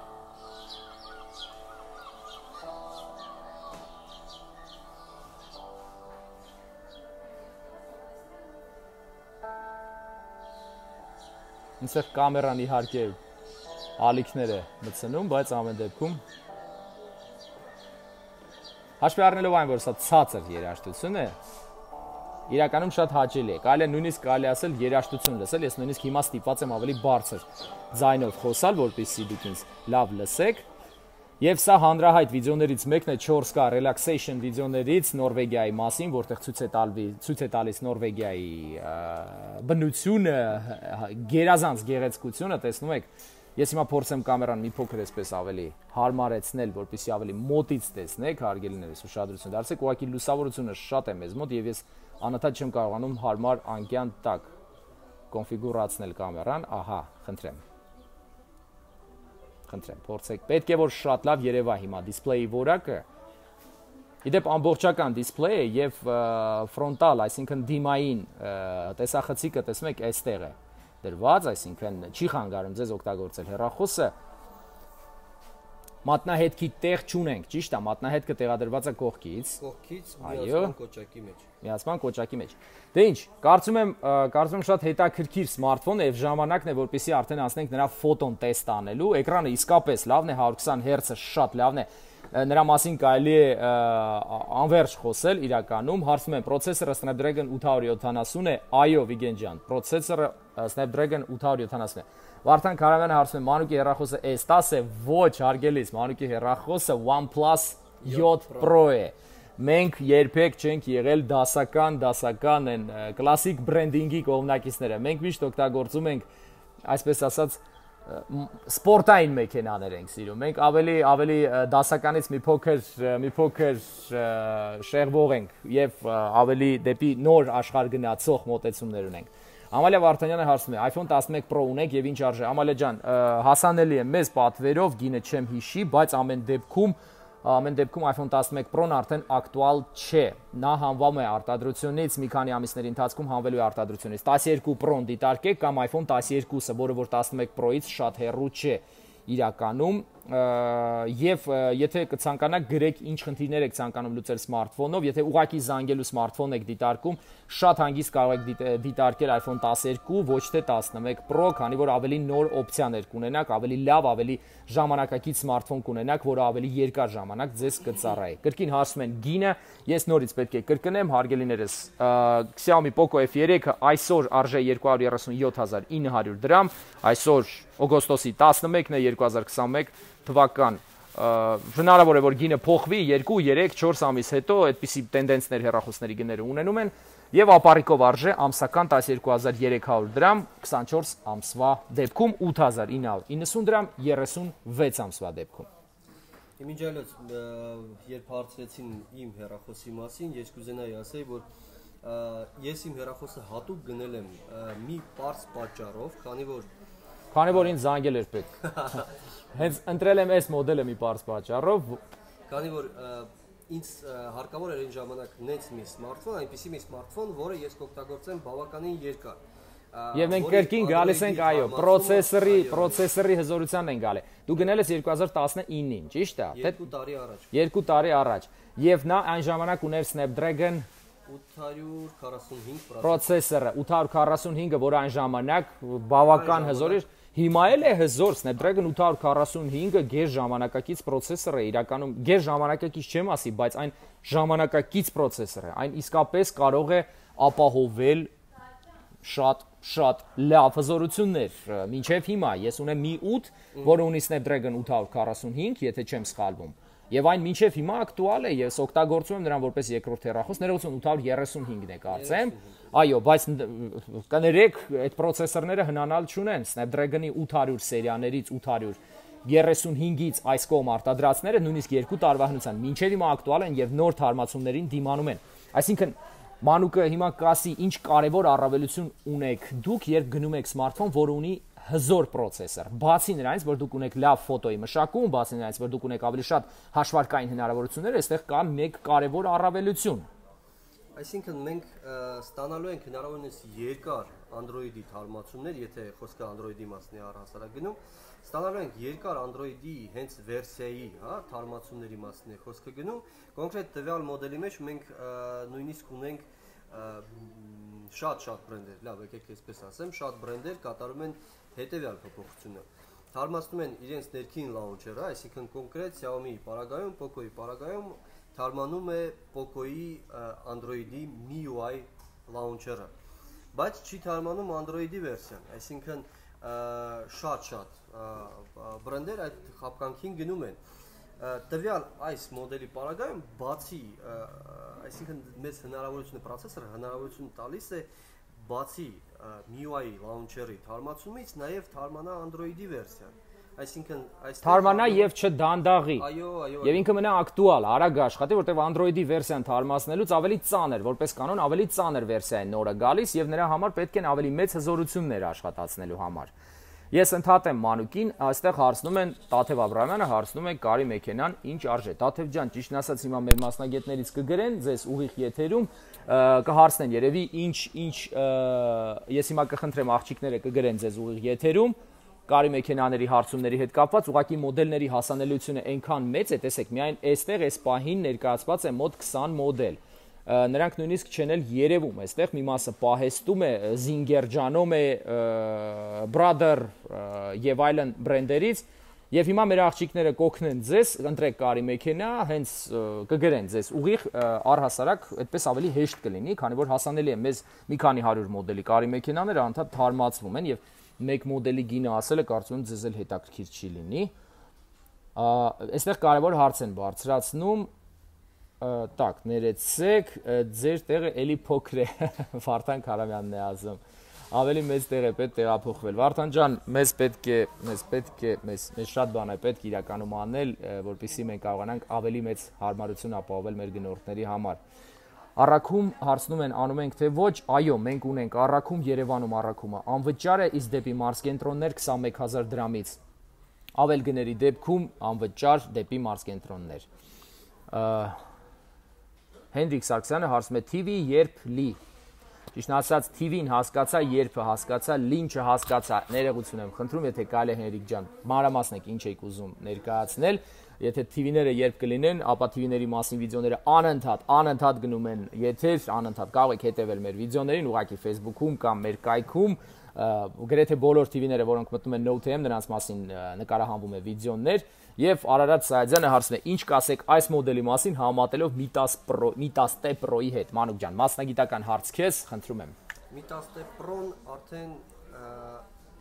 Ինձ կամերան իհարկե ալիքներ է մտցնում, բայց ամեն դեպքում հաշվի առնելով այն, որ սա ցածր երաժշտություն է, իրականում շատ հաճելի է։ Կարելի է նույնիսկ կարելի ասել երաժշտություն լսել, ես նույնիսկ հիմա ստիպված եմ ավելի բարձր ձայնով խոսալ, որպեսզի դուք ինձ լավ լսեք։ Եվ սա հանրահայտ վիդեոներից մեկն է չորս կա relaxation վիդեոներից Նորվեգիայի մասին, որտեղ ցույց է տալվի, ցույց է տալիս Նորվեգիայի բնությունը, գերազանց գեղեցկությունը, տեսնում եք։ Ես հիմա փորձեմ կամերան մի փոքր էսպես ավելի հարմարեցնել, որպեսզի ավելի մոտից տեսնեք, հարգելիներս, ուշադրություն դարձեք, ուղղակի լուսավորությունը շատ է մեզ մոտ եւ ես անընդհատ չեմ կարողանում հարմար անկյան տակ կոնֆիգուրացնել կամերան, ահա, խնդրեմ։ Խնդրեմ, փորձեք։ Պետք է որ շատ լավ երևա հիմա դիսպլեյի որակը։ Իդեպ ամբողջական դիսպլեյ է եւ ֆրոնտալ, այսինքն դիմային տեսախցիկը տեսնում եք այստեղ է դրված, այսինքն չի խանգարում ձեզ օգտագործել հեռախոսը։ Մատնահետքի տեղ չունենք, ճիշտ է, մատնահետքը տեղադրված է կողքից։ Կողքից միացման կոճակի մեջ։ Միացման կոճակի մեջ։ Դե ինչ, կարծում եմ, կարծում եմ շատ հետաքրքիր սմարթֆոն է եւ ժամանակն է, որպեսզի արդեն անցնենք նրա ֆոտոն տեստ անելու։ Էկրանը իսկապես լավն է, one twenty հերցը շատ լավն է։ Նրա մասին կարելի է անverջ խոսել իրականում։ Հարցնում եմ, պրոցեսորը Snapdragon eight seventy է, այո, Վիգեն ջան, պրոցեսորը Snapdragon eight seventy է։ Վարդան Քարամյանը հարցնում է, Մանուկի հեռախոսը S ten է, ոչ, հարգելիս, Մանուկի հեռախոսը OnePlus seven Pro է։ Մենք երբեք չենք եղել դասական, դասական են կլասիկ բրենդինգի կողմնակիցները։ Մենք միշտ օգտագործում ենք, այսպես ասած, սպորտային մեքենաներ ենք սիրում։ Մենք ավելի ավելի դասականից մի փոքր մի փոքր շեղվող ենք եւ ավելի դեպի նոր աշխարհ գնացող մոտեցումներ ունենք։ Ամալիա Վարդանյանը հարցնում է, iPhone eleven Pro ունեք եւ ինչ արժե։ Ամալիա ջան, հասանելի է մեզ պատվերով, գինը չեմ հիշի, բայց ամեն դեպքում ամեն դեպքում iPhone eleven Pro-ն արդեն ակտուալ չէ։ Նա հանվում է արտադրությունից, մի քանի ամիսների ընթացքում հանվելու է արտադրությունից։ twelve Pro-ն դիտարկեք կամ iPhone twelve-ը, որը որ eleven Pro-ից շատ հեռու չէ իրականում, եւ եթե կցանկանաք գրեք ինչ խնդիրներ եք ցանկանում լուծել սմարթֆոնով, եթե ուղակի զանգելու սմարթֆոն եք դիտարկում, շատ հանգիստ կարող եք դիտարկել iPhone twelve, ոչ թե eleven Pro, քանի որ ավելի նոր օպցիաներ կունենաք, ավելի լավ, ավելի ժամանակակից սմարթֆոն կունենաք, որը ավելի երկար ժամանակ ձեզ կծառայի։ Կրկին հարցում են գինը, ես նորից պետք է կրկնեմ, հարգելիներս, Xiaomi Poco F three-ը այսօր արժե two hundred thirty-seven thousand nine hundred դրամ, այսօր օգոստոսի elevenն է twenty twenty-one թվական, հնարավոր է որ գինը փոխվի two, three, four ամիս հետո, այդպիսի տենդենսներ հեռախոսների գները ունենում են, եւ ապարիկով արժե ամսական twelve thousand three hundred դրամ, twenty-four ամսվա դեպքում eight thousand nine hundred ninety դրամ, thirty-six ամսվա դեպքում։ Մինչ այլոց, երբ հարցրեցին իմ հեռախոսի մասին, ես կուզենայի ասեի, որ ես իմ հեռախոսը հատուկ գնել եմ մի պարզ պատճառով, քանի որ Քանի որ ինձ զանգել էր պետք։ Հենց ընտրել եմ այս մոդելը մի պարզ պատճառով, քանի որ ինձ հարկավոր էր այն ժամանակ նենց մի սմարթֆոն, այնպիսի մի սմարթֆոն, որը ես կօգտագործեմ բավականին երկար։ Եվ մենք կրկին գալիս ենք, այո, պրոցեսորի, պրոցեսորի հզորությանն են գալի։ Դու գնել ես twenty nineteen-ին, ճիշտ է, թե two տարի առաջ։ two տարի առաջ։ Եվ նա այն ժամանակ ուներ Snapdragon eight forty-five պրոցեսորը, eight forty-five-ը, որը այն ժամանակ բավական հզոր էր, հիմա էլ է հզոր, Snapdragon eight forty-five-ը գեր ժամանակակից պրոցեսոր է, իրականում գեր ժամանակակից չեմ ասի, բայց այն ժամանակակից պրոցեսոր է, այն իսկապես կարող է ապահովել շատ շատ լավ հզորություններ, մինչև հիմա ես ունեմ Mi eight, որը ունի Snapdragon eight forty-five, եթե չեմ սխալվում, եւ այն մինչև հիմա ակտուալ է, ես օգտագործում եմ նրան որպես երկրորդ հեռախոս, ներողություն eight thirty-five-ն է կարծեմ, այո, բայց կներեք, այդ պրոցեսորները հնանալ չունեն, Snapdragon-ի eight hundred սերիաներից eight thirty-five-ից այս կողմ արտադրածները նույնիսկ two տարվա հնության մինչև հիմա ակտուալ են եւ նոր թարմացումներին դիմանում են, այսինքն Մանուկը հիմա կասի ինչ կարևոր առավելություն ունեք դուք, երբ գնում եք սմարթֆոն, որը ունի հզոր պրոցեսոր։ Բացի նրանից, որ դուք ունեք լավ ֆոտոյի մշակում, բացի նրանից, որ դուք ունեք ավելի շատ հաշվարկային հնարավորություններ, այստեղ կա մեկ կարևոր առավելություն։ Այսինքն մենք ստանալու ենք հնարավորինս երկար Android-ի թարմացումներ, եթե խոսքը Android-ի մասն է առհասարակ գնում, ստանալու ենք երկար Android-ի հենց վերսիայի, հա, թարմացումների մասն է խոսքը գնում, կոնկրետ տվյալ մոդելի մեջ մենք նույնիսկ ունենք շատ-շատ բրենդեր, լավ, եկեք այսպես ասեմ, շատ բրենդեր կատարում են հետևյալ փոփոխությունը։ Թարմացնում են իրենց ներքին launcher-ը, այսինքն կոնկրետ Xiaomi-ի պարագայում, Poco-ի պարագայում թարմանում է Poco-ի Android-ի M I U I launcher-ը, բայց չի թարմանում Android-ի վերսիան, այսինքն շատ-շատ բրենդեր այդ խապկանքին գնում են։ Տվյալ այս մոդելի պարագայում բացի, այսինքն մեծ հնարավորությունը պրոցեսորը հնարավորություն տալիս է բացի M I U I launcher-ի թարմացումից նաև թարմանա Android-ի վերսիան։ Այսինքն այս թարմանա եւ չդանդաղի։ Այո, այո։ Եվ ինքը մնա ակտուալ, արագ աշխատի, որտեղ Android-ի վերսիան թարմացնելուց ավելի ծանր, որպես կանոն ավելի ծանր վերսիա է նորը գալիս եւ նրա համար պետք են ավելի մեծ հզորություններ աշխատացնելու համար։ Ես ընդհատեմ Մանուկին, այստեղ հարցնում են Տաթև Աբրահամյանը, հարցնում է կարի մեքենան ինչ արժե։ Տաթև ջան, ճիշտն ասած հիմա մեր մասնագետներից կգրեն ձեզ ուղիղ եթերում, կհարցնեն երևի ինչ ինչ ես հիմա կխնդրեմ աղջիկները կգրեն ձեզ ուղիղ եթերում, կարի մեքենաների հարցումների հետ կապված, ուղղակի մոդելների հասանելիությունը այնքան մեծ է, տեսեք, միայն այստեղ այս պահին ներկայացված է մոտ քսան մոդել։ Նրանք նույնիսկ չեն էլ երևում, այստեղ մի մասը պահեստում է Zinger, Janome, Brother եւ այլն բրենդերից, եւ հիմա մեր աղջիկները կօգնեն ձեզ, ընտրեք կարի մեքենա, հենց կգրեն ձեզ ուղիղ առհասարակ, այդպես ավելի հեշտ կլինի, քանի որ հասանելի է մեզ մի քանի հարյուր մոդելի կարի մեքենաները անդադ թարմացվում են եւ մեկ մոդելի գինը ասելը կարծում եմ ձեզ էլ հետաքրքիր չի լինի։ Այստեղ կարևոր հարց են բարձրացնում, տակ, ներեցեք, ձեր տեղը էլի փոքր է, Վարդան Քարամյանն է ասում, ավելի մեծ տեղ է պետք տեղափոխվել։ Վարդան ջան, մեզ պետք է, մեզ պետք է, մեզ շատ բան է պետք իրականում անել, որպեսզի մենք կարողանանք ավելի մեծ հարմարություն ապահովել մեր գնորդների համար։ Առաքում հարցնում են, անում ենք թե ոչ, այո, մենք ունենք առաքում Երևանում առաքումը անվճար է, իսկ դեպի մարզկենտրոններ քսանմեկ հազար դրամից։ Ավել գների դեպքում անվճար դեպի մարզկենտրոններ։ Հենրիկ Սարգսյանը հարցում է T V երբ լի։ Ճիշտ ասած T V-ն հասկացա, երբը հասկացա, լին չհասկացա։ Ներողություն եմ խնդրում, եթե կարելի է Հենրիկ ջան, մանրամասն եք ինչ եք ուզում ներկայացնել։ Եթե T V-ները երբ կլինեն, ապա T V-ների մասին վիդեոները անընդհատ, անընդհատ գնում են եթեր, անընդհատ կարող եք հետևել մեր վիդեոներին, ուղղակի Facebook-ում կամ մեր կայքում, գրեթե բոլոր T V-ները, որոնք մտնում են NoteM, նրանց մասին նկարահանվում է վիդեոներ, եւ Արարատ Սայադյանը հարցնում է, ինչ կասեք այս մոդելի մասին համատելով Mi ten Pro, Mi ten Pro-ի հետ, Մանուկ ջան, մասնագիտական հարց քեզ, խնդրում եմ։ Mi ten Pro-ն արդեն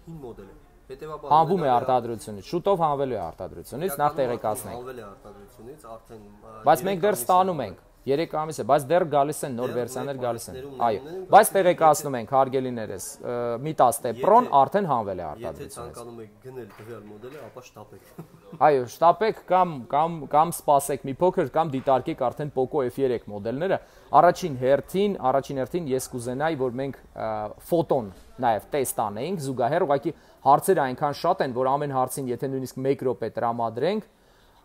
հին մոդել է։ Հետևաբար հանվում է արտադրությունից, շուտով հանվելու է արտադրությունից, նախ տեղեկացնենք։ Հանվել է արտադրությունից, արդեն բայց մենք դեռ ստանում ենք, երեք ամիս է, բայց դեռ գալիս են նոր վերսիաներ գալիս են։ Այո, բայց տեղեկացնում ենք հարգելիներս, Mi ten Pro-ն արդեն հանվել է արտադրությունից։ Եթե ցանկանում եք գնել տվյալ մոդելը, ապա շտապեք։ Այո, շտապեք կամ կամ կամ սպասեք մի փոքր կամ դիտարկեք արդեն Poco F three մոդելները։ Առաջին հերթին, առաջին հերթին ես կուզենայի, որ մենք ֆոտոն նաև տեստ անեինք, զուգահեռ ուղղակի հարցերը այնքան շատ են, որ ամեն հարցին եթե նույնիսկ մեկ րոպե տրամադրենք,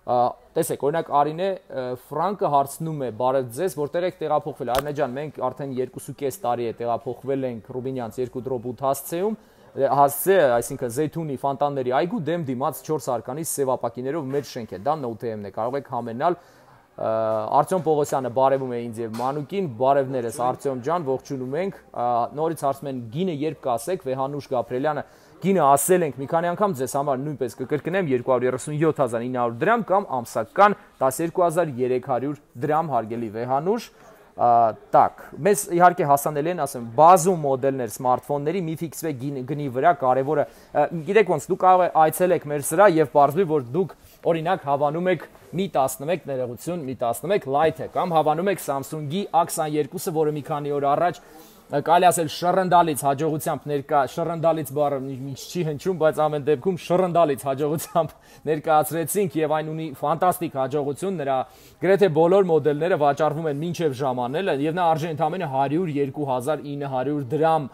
տեսեք, օրինակ Արինե Ֆրանկը հարցնում է, բարև ձեզ, որտեղ եք տեղափոխվել։ Արինե ջան, մենք արդեն երկու կես տարի է տեղափոխվել ենք Ռուբինյանց երկու դրոպ ութ հասցեում, հասցե, այսինքն Զեյթունի Ֆանտանների այգու դեմ դիմաց չորս արկանի սևապակիներով մեր շենք է, դա NoteM-ն է, կարող եք համենալ։ Արտյոմ Պողոսյանը բարևում է ինձ եւ Մանուկին, բարևներս Արտյոմ ջան, ողջունում ենք։ Նորից հարցում են գինը երբ կասեք, Վեհանուշ Գաբրելյանը, գինը ասել ենք մի քանի անգամ ձեզ համար նույնպես կկրկնեմ երկու հարյուր երեսունյոթ հազար ինը հարյուր դրամ կամ ամսական տասներկու հազար երեք հարյուր դրամ հարգելի Վեհանուշ։ Տակ, մեզ իհարկե հասանելի են, ասեմ, բազում մոդելներ սմարթֆոնների, մի ֆիքսվեք գնի վրա, կարևորը, գիտեք ոնց, դուք կարող եք այցելեք մեր սրահ եւ պարզվի, որ դուք օրինակ հավանում եք Mi տասնմեկ ներողություն, Mi տասնմեկ Lite-ը կամ հավանում եք Samsung-ի A քսաներկուսը, որը մի քանի օր առաջ կարելի ասել շռնդալից հաջողությամբ ներկա շռնդալից բառը չի հնչում, բայց ամեն դեպքում շռնդալից հաջողությամբ ներկայացրեցինք եւ այն ունի ֆանտաստիկ հաջողություն, նրա գրեթե բոլոր մոդելները վաճառվում են մինչեւ ժամանելը եւ նա արժի ընդամենը հարյուր երկու հազար ինը հարյուր դրամ,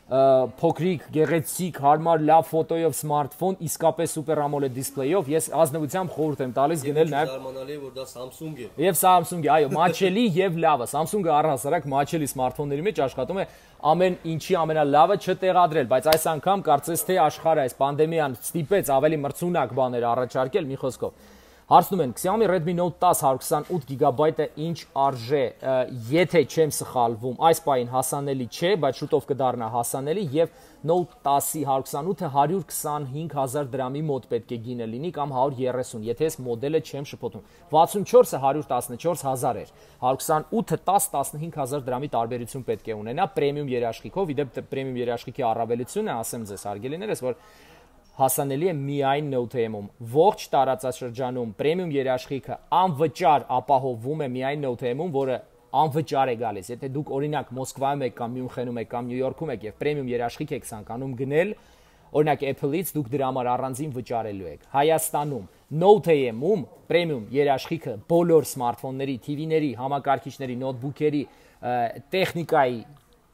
փոքրիկ, գեղեցիկ, հարմար, լավ ֆոտոյով սմարթֆոն, իսկապես սուպեր AMOLED դիսպլեյով, ես ազնվությամբ խորհուրդ եմ տալիս գնել նաև զարմանալի է, որ դա Samsung է։ Եվ Samsung-ը, այո, մաչելի եւ լավը։ Samsung-ը առհասարակ մաչելի սմարթֆոնների մեջ աշխատում է ամեն ինչի ամենալավը չտեղադրել, բայց այս անգամ կարծես թե աշխարհը այս պանդեմիան ստիպեց ավելի մրցունակ բաներ առաջարկել, մի խոսքով։ Հարցնում են Xiaomi Redmi Note ten one hundred twenty-eight գիգաբայթը ինչ արժե, եթե չեմ սխալվում, այս պահին հասանելի չէ, բայց շուտով կդառնա հասանելի եւ Note ten-ի one hundred twenty-eight-ը հարյուր քսանհինգ հազար դրամի մոտ պետք է գինը լինի կամ հարյուր երեսուն, եթե ես մոդելը չեմ շփոթում։ վաթսունչորսը հարյուր տասնչորս հազար էր, one hundred twenty-eight-ը ten տասնհինգ հազար դրամի տարբերություն պետք է ունենա պրեմիում երաշխիքով, իդեպ պրեմիում երաշխիքի առավելությունը, ասեմ ձեզ հարգելիներս, որ հասանելի է միայն NoteM-ում։ Ողջ տարածաշրջանում պրեմիում երաշխիքը անվճար ապահովվում է միայն NoteM-ում, որը անվճար է գալիս։ Եթե դուք օրինակ Մոսկվայում եք կամ Մյունխենում եք կամ Նյու Յորքում եք եւ պրեմիում երաշխիք եք ցանկանում գնել, օրինակ Apple-ից դուք դրա համար առանձին վճարելու եք։ Հայաստանում NoteM-ում պրեմիում երաշխիքը բոլոր սմարթֆոնների, T V-ների, համակարգիչների, նոթբուքերի, տեխնիկայի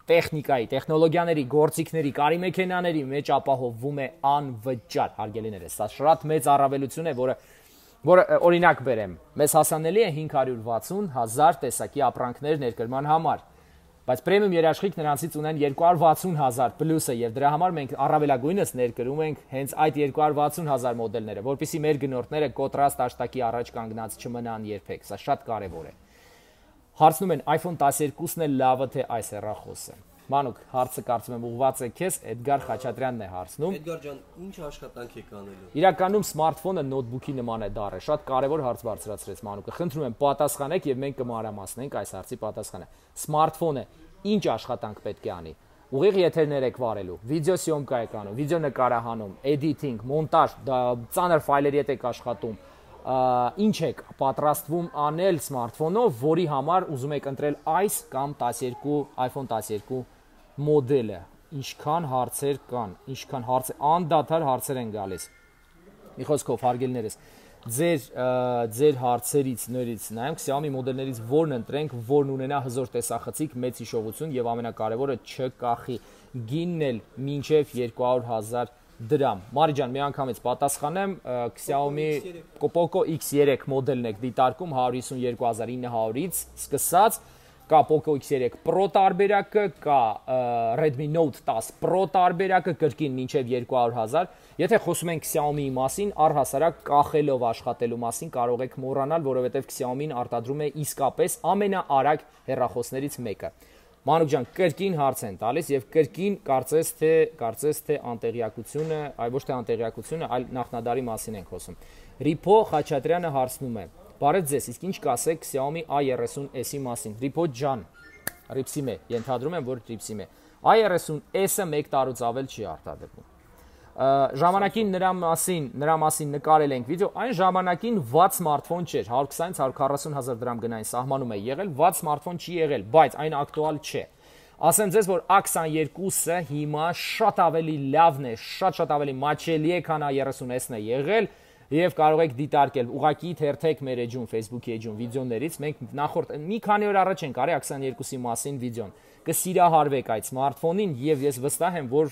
տեխնիկայի, տեխնոլոգիաների, գործիքների, կարի մեքենաների մեջ ապահովվում է անվճար, հարգելիներս։ Սա շատ մեծ առավելություն է, որը որը օրինակ բերեմ։ Մեզ հասանելի է հինգ հարյուր վաթսուն հազար տեսակի ապրանքներ ներկրման համար։ բայց պրեմիում երաշխիք նրանցից ունեն երկու հարյուր վաթսուն հազար պլյուսը եւ դրա համար մենք առավելագույնս ներկրում ենք հենց այդ երկու հարյուր վաթսուն հազար մոդելները, որpիսի մեր գնորդները կոնտրաստ աշտակի առաջ կանգնած չմնան երբեք, սա շատ կարեւոր է։ Հարցնում են iPhone տասներկուսն է լավը թե այս հեռախոսը։ Մանուկ, հարցը կարծում եմ ուղղված է քեզ, Էդգար Խաչատրյանն է հարցնում։ Էդգար ջան, ինչ աշխատանք եք անելու։ Իրականում սմարթֆոնը նոթբուքի նման է դառը, շատ կարևոր հարց բարձրացրեց Մանուկը։ Խնդրում եմ պատասխանեք եւ մենք կմանրամասնենք այս հարցի պատասխանը։ Սմարթֆոնը ինչ աշխատանք պետք է անի։ Ուղիղ եթերներ եք վարելու, վիդեոսյոմկա եք անում, վիդեո նկարահանում, էդիթինգ, մոնտաժ, ծանր ֆայլերի հետ եք աշխատում, ինչ եք պատրաստվում անել սմարթֆոնով, որի համար ուզում եք ընտրել այս կամ տասներկու iPhone տասներկու մոդելը, ինչքան հարցեր կան, ինչքան հարցեր, անդադար հարցեր են գալիս։ Մի խոսքով, հարգելիներս, ձեր ձեր հարցերից նորից նայենք Xiaomi մոդելներից որն ընտրենք, որն ունենա հզոր տեսախցիկ, մեծ հիշողություն եւ ամենակարևորը չկախի, գինն էլ մինչեւ երկու հարյուր հազար դրամ։ Մարի ջան, մի անգամից պատասխանեմ, Xiaomi Poco X երեք մոդելն եք դիտարկում հարյուր հիսունյոթ հազար ինը հարյուրից սկսած, կա Poco X երեք Pro տարբերակը, կա Redmi Note տասը Pro տարբերակը կրկին մինչև երկու հարյուր հազար։ Եթե խոսում ենք Xiaomi-ի մասին, առհասարակ կախելով աշխատելու մասին կարող եք մոռանալ, որովհետև Xiaomi-ն արտադրում է իսկապես ամենաարագ հեռախոսներից մեկը։ Մանուկ ջան, կրկին հարց են տալիս եւ կրկին կարծես թե կարծես թե անտեղյակությունը, այլ ոչ թե անտեղյակությունը, այլ նախնադարի մասին ենք խոսում։ Ripo Խաչատրյանը հարցնում է. Բարև ձեզ, իսկ ինչ կասեք Xiaomi A thirty S-ի մասին։ Ripo ջան, Ripsim է, ենթադրում եմ, որ Ripsim է։ A thirty S-ը մեկ տարուց ավել չի արտադրվում։ Ժամանակին նրա մասին, նրա մասին նկարել ենք վիդեո, այն ժամանակին վատ սմարթֆոն չէր, հարյուր քսանից հարյուր քառասուն հազար դրամ գնային սահմանում է եղել, վատ սմարթֆոն չի եղել, բայց այն ակտուալ չէ։ Ասեմ ձեզ, որ A twenty-two-ը հիմա շատ ավելի լավն է, շատ-շատ ավելի մաչելի է, քան A thirty S-ն է եղել, եւ կարող եք դիտարկել, ուղղակի թերթեք մեր էջում, Facebook-ի էջում վիդեոներից, մենք նախորդ մի քանի օր առաջ ենք արել A twenty-two-ի մասին վիդեոն։ Կսիրահարվեք այդ սմարթֆոնին եւ ես վստահ եմ, որ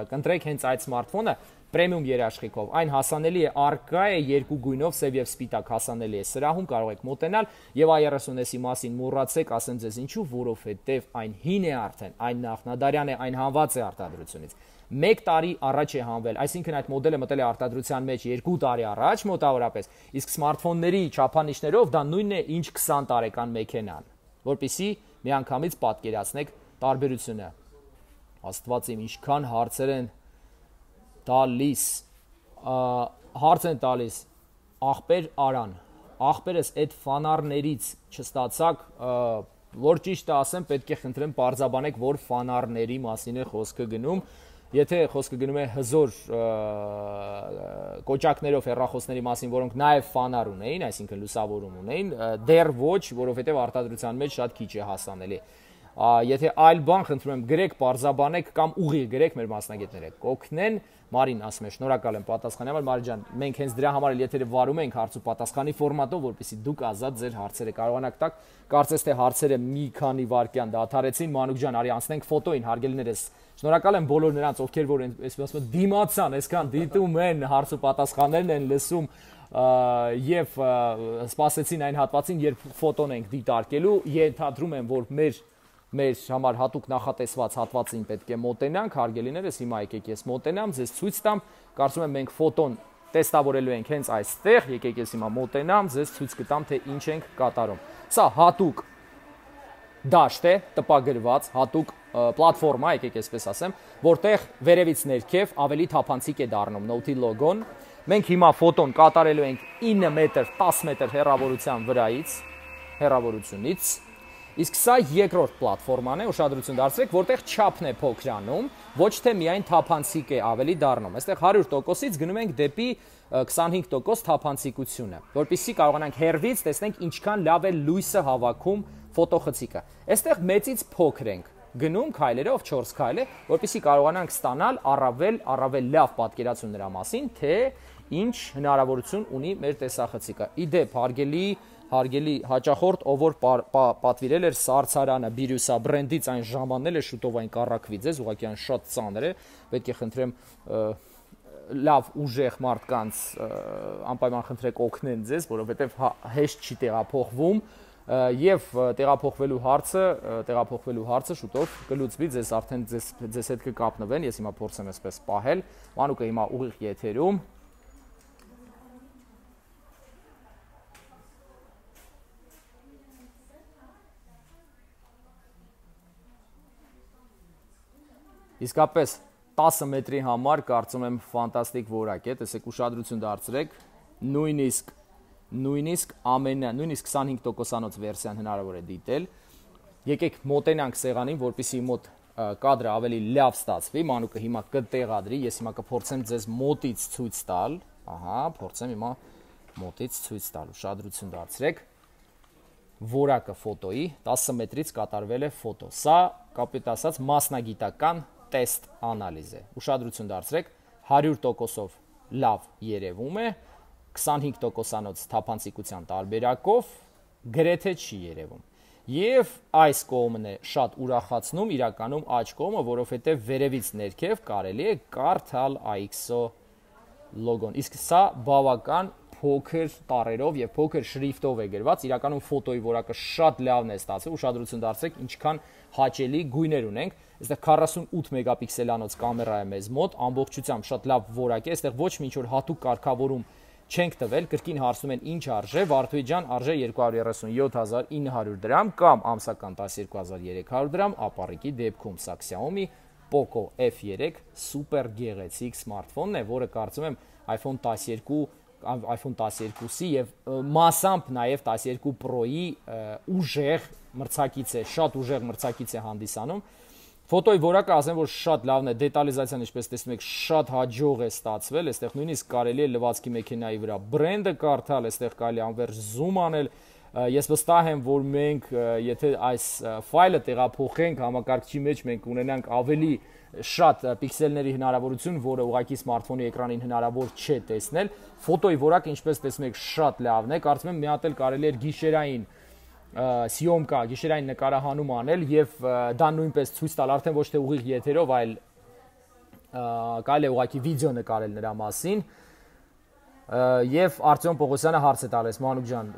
կընտրեք հենց այդ սմարթֆոնը պրեմիում երաշխիքով։ Այն հասանելի է, առկա է երկու գույնով, սև եւ սպիտակ հասանելի է սրահում, կարող եք մոտենալ եւ A thirty S-ի մասին մոռացեք, ասեմ ձեզ ինչու, որովհետեւ այն հին է արդեն, այն նախնադարյան է, այն հանված է արտադրությունից։ Մեկ տարի առաջ է հանվել, այսինքն այդ մոդելը մտել է արտադրության մեջ երկու տարի առաջ մոտավորապես, իսկ սմարթֆոնների չափանիշներով դա նույնն է, ինչ twenty տարեկան մեքենան, որպեսզի միանգամից պատկերացնեք տարբերությունը։ Աստված իմ, ինչքան հարցեր են տալիս, հարց են տալիս, աղբեր Արան, աղբերս այդ ֆանարներից չստացակ, որ ճիշտ ասեմ, պետք է խնդրեմ պարզաբանեք, որ ֆանարների մասին է խոսքը գնում։ Եթե խոսքը գնում է հզոր կոճակներով հեռախոսների մասին, որոնք նաև ֆանար ունեին, այսինքն լուսավորում ունեին, դեռ ոչ, որովհետև արտադրության մեջ շատ քիչ է հասանելի։ Եթե այլ բան խնդրում եմ գրեք, պարզաբանեք կամ ուղիղ գրեք մեր մասնագետները կօգնեն։ Մարին ասում է, շնորհակալ եմ պատասխանի համար, Մարի ջան, մենք հենց դրա համար էլ եթերը վարում ենք հարց ու պատասխանի ֆորմատով, որպեսզի դուք ազատ ձեր հարցերը կարողանաք տալ։ Կարծես թե հարցերը մի քանի վայրկյան դադարեցին, Մանուկ ջան, արի անցնենք ֆոտոին, հարգելիներս։ Շնորհակալ եմ բոլոր նրանց, ովքեր որ այսպես ասում են դիմացան, այսքան դիտում են, հարց ու պատասխաններն են լսում եւ սպասեցին այն հատվածին, երբ ֆոտոն ենք դիտարկելու, ենթադրում եմ, որ մեր մեր համար հատուկ նախատեսված հատվածին պետք է մոտենանք, հարգելիներս, հիմա եկեք ես մոտենամ, ձեզ ցույց տամ, կարծում եմ մենք ֆոտոն տեստավորելու ենք հենց այստեղ, եկեք ես հիմա մոտենամ, ձեզ ցույց կտամ, թե ինչ ենք կատարում։ Սա հատուկ դաշտ է, տպագրված, հատուկ պլատֆորմա, եկեք այսպես ասեմ, որտեղ վերևից ներքև ավելի թափանցիկ է դառնում Note-ի լոգոն։ Մենք հիմա ֆոտոն կատարելու ենք ինը մետր, տասը մետր հեռավորության վրայից, հեռավորությունից։ Իսկ սա երկրորդ պլատֆորման է, ուշադրություն դարձրեք, որտեղ չափն է փոքրանում, ոչ թե միայն թափանցիկ է ավելի դառնում։ Այստեղ հարյուր տոկոսից գնում ենք դեպի քսանհինգ տոկոս թափանցիկությունը, որպեսզի կարողանանք հեռվից տեսնենք ինչքան լավ է լույսը հավաքում ֆոտոխցիկը։ Այստեղ մեծից փոքր ենք գնում քայլերով չորս քայլ է, որպեսզի կարողանանք ստանալ առավել առավել լավ պատկերացում նրա մասին, թե ինչ հնարավորություն ունի մեր տեսախցիկը։ Իդեպ, հարգելի Հարգելի հաճախորդ, ով որ պատվիրել էր Սարցարանը, Բիրյուսա բրենդից այն ժամանել է, շուտով այն կառակվի ձեզ, ուղղակի այն շատ ծանր է, պետք է խնդրեմ լավ ուժեղ մարդկանց անպայման խնդրեք օգնեն ձեզ, որովհետև հեշտ չի տեղափոխվում, Եվ տեղափոխվելու հարցը, տեղափոխվելու հարցը շուտով կլուծվի, ձեզ արդեն ձեզ ձեզ հետ կկապնվեն, ես հիմա փորձեմ այսպես պահել։ Մանուկը հիմա ուղիղ եթերում։ Իսկապես տասը մետրի համար կարծում եմ ֆանտաստիկ որակ է, տեսեք ուշադրություն դարձրեք, նույնիսկ նույնիսկ ամենը, նույնիսկ քսանհինգ տոկոսանոց վերսիան հնարավոր է դիտել։ Եկեք մոտենանք սեղանին, որպեսզի մոտ կադրը ավելի լավ ստացվի, մանուկը հիմա կտեղադրի, ես հիմա կփորձեմ ձեզ մոտից ցույց տալ, ահա, փորձեմ հիմա մոտից ցույց տալ, ուշադրություն դարձրեք։ Որակը ֆոտոյի տասը մետրից կատարվել է ֆոտո։ Սա կապիտ ասած մասնագիտական տեստ անալիզ է։ Ուշադրություն դարձրեք, հարյուր տոկոսով լավ երևում է, քսանհինգ տոկոսանոց թափանցիկության տարբերակով գրեթե չի երևում։ Եվ այս կողմն է շատ ուրախացնում, իրականում աջ կողմը, որովհետև վերևից ներքև կարելի է կարդալ I X O լոգոն։ Իսկ սա բավական փոքր տառերով եւ փոքր շրիֆտով է գրված, իրականում ֆոտոյի որակը շատ լավն է ստացվել, ուշադրություն դարձրեք, ինչքան հաճելի գույներ ունենք։ Այստեղ քառասունութ մեգապիքսելանոց կամերա է մեզ մոտ, ամբողջությամբ շատ լավ որակ է, այստեղ ոչ մի ինչ-որ հատուկ կարգավորում չենք տվել, կրկին հարցնում են ինչ արժե, Վարդուհի ջան, արժե երկու հարյուր երեսունյոթ հազար ինը հարյուր դրամ կամ ամսական տասներկու հազար երեք հարյուր դրամ, ապառիկի դեպքում սա Xiaomi Poco F երեք սուպեր գեղեցիկ սմարթֆոնն է, որը կարծում եմ iPhone տասներկու iPhone տասներկու-ի եւ մասամբ նաեւ տասներկու Pro-ի ուժեղ մրցակից է, շատ ուժեղ մրցակից է հանդիսանում։ Ֆոտոյի որակը ասեմ, որ շատ լավն է, դետալիզացիան, ինչպես տեսնում եք, շատ հաջող է ստացվել, այստեղ նույնիսկ կարելի է լվացքի մեքենայի վրա բրենդը կարդալ, այստեղ կարելի անվերջ զում անել։ Ես վստահ եմ, որ մենք, եթե այս ֆայլը տեղափոխենք համակարգչի մեջ, մենք ունենանք ավելի շատ պիքսելների հնարավորություն, որը ուղղակի սմարթֆոնի էկրանին հնարավոր չէ տեսնել։ Ֆոտոյի որակը, ինչպես տեսնում եք, շատ լավն է, կարծում եմ մի հատ էլ կարելի է գիշերային սիոմկա, գիշերային նկարահանում անել եւ դա նույնպես ցույց տալ արդեն ոչ թե ուղիղ եթերով, այլ կարելի է ուղղակի վիդեո նկարել նրա մասին։ Եվ Արտյոմ Պողոսյանը հարց է տալիս, Մանուկ ջան,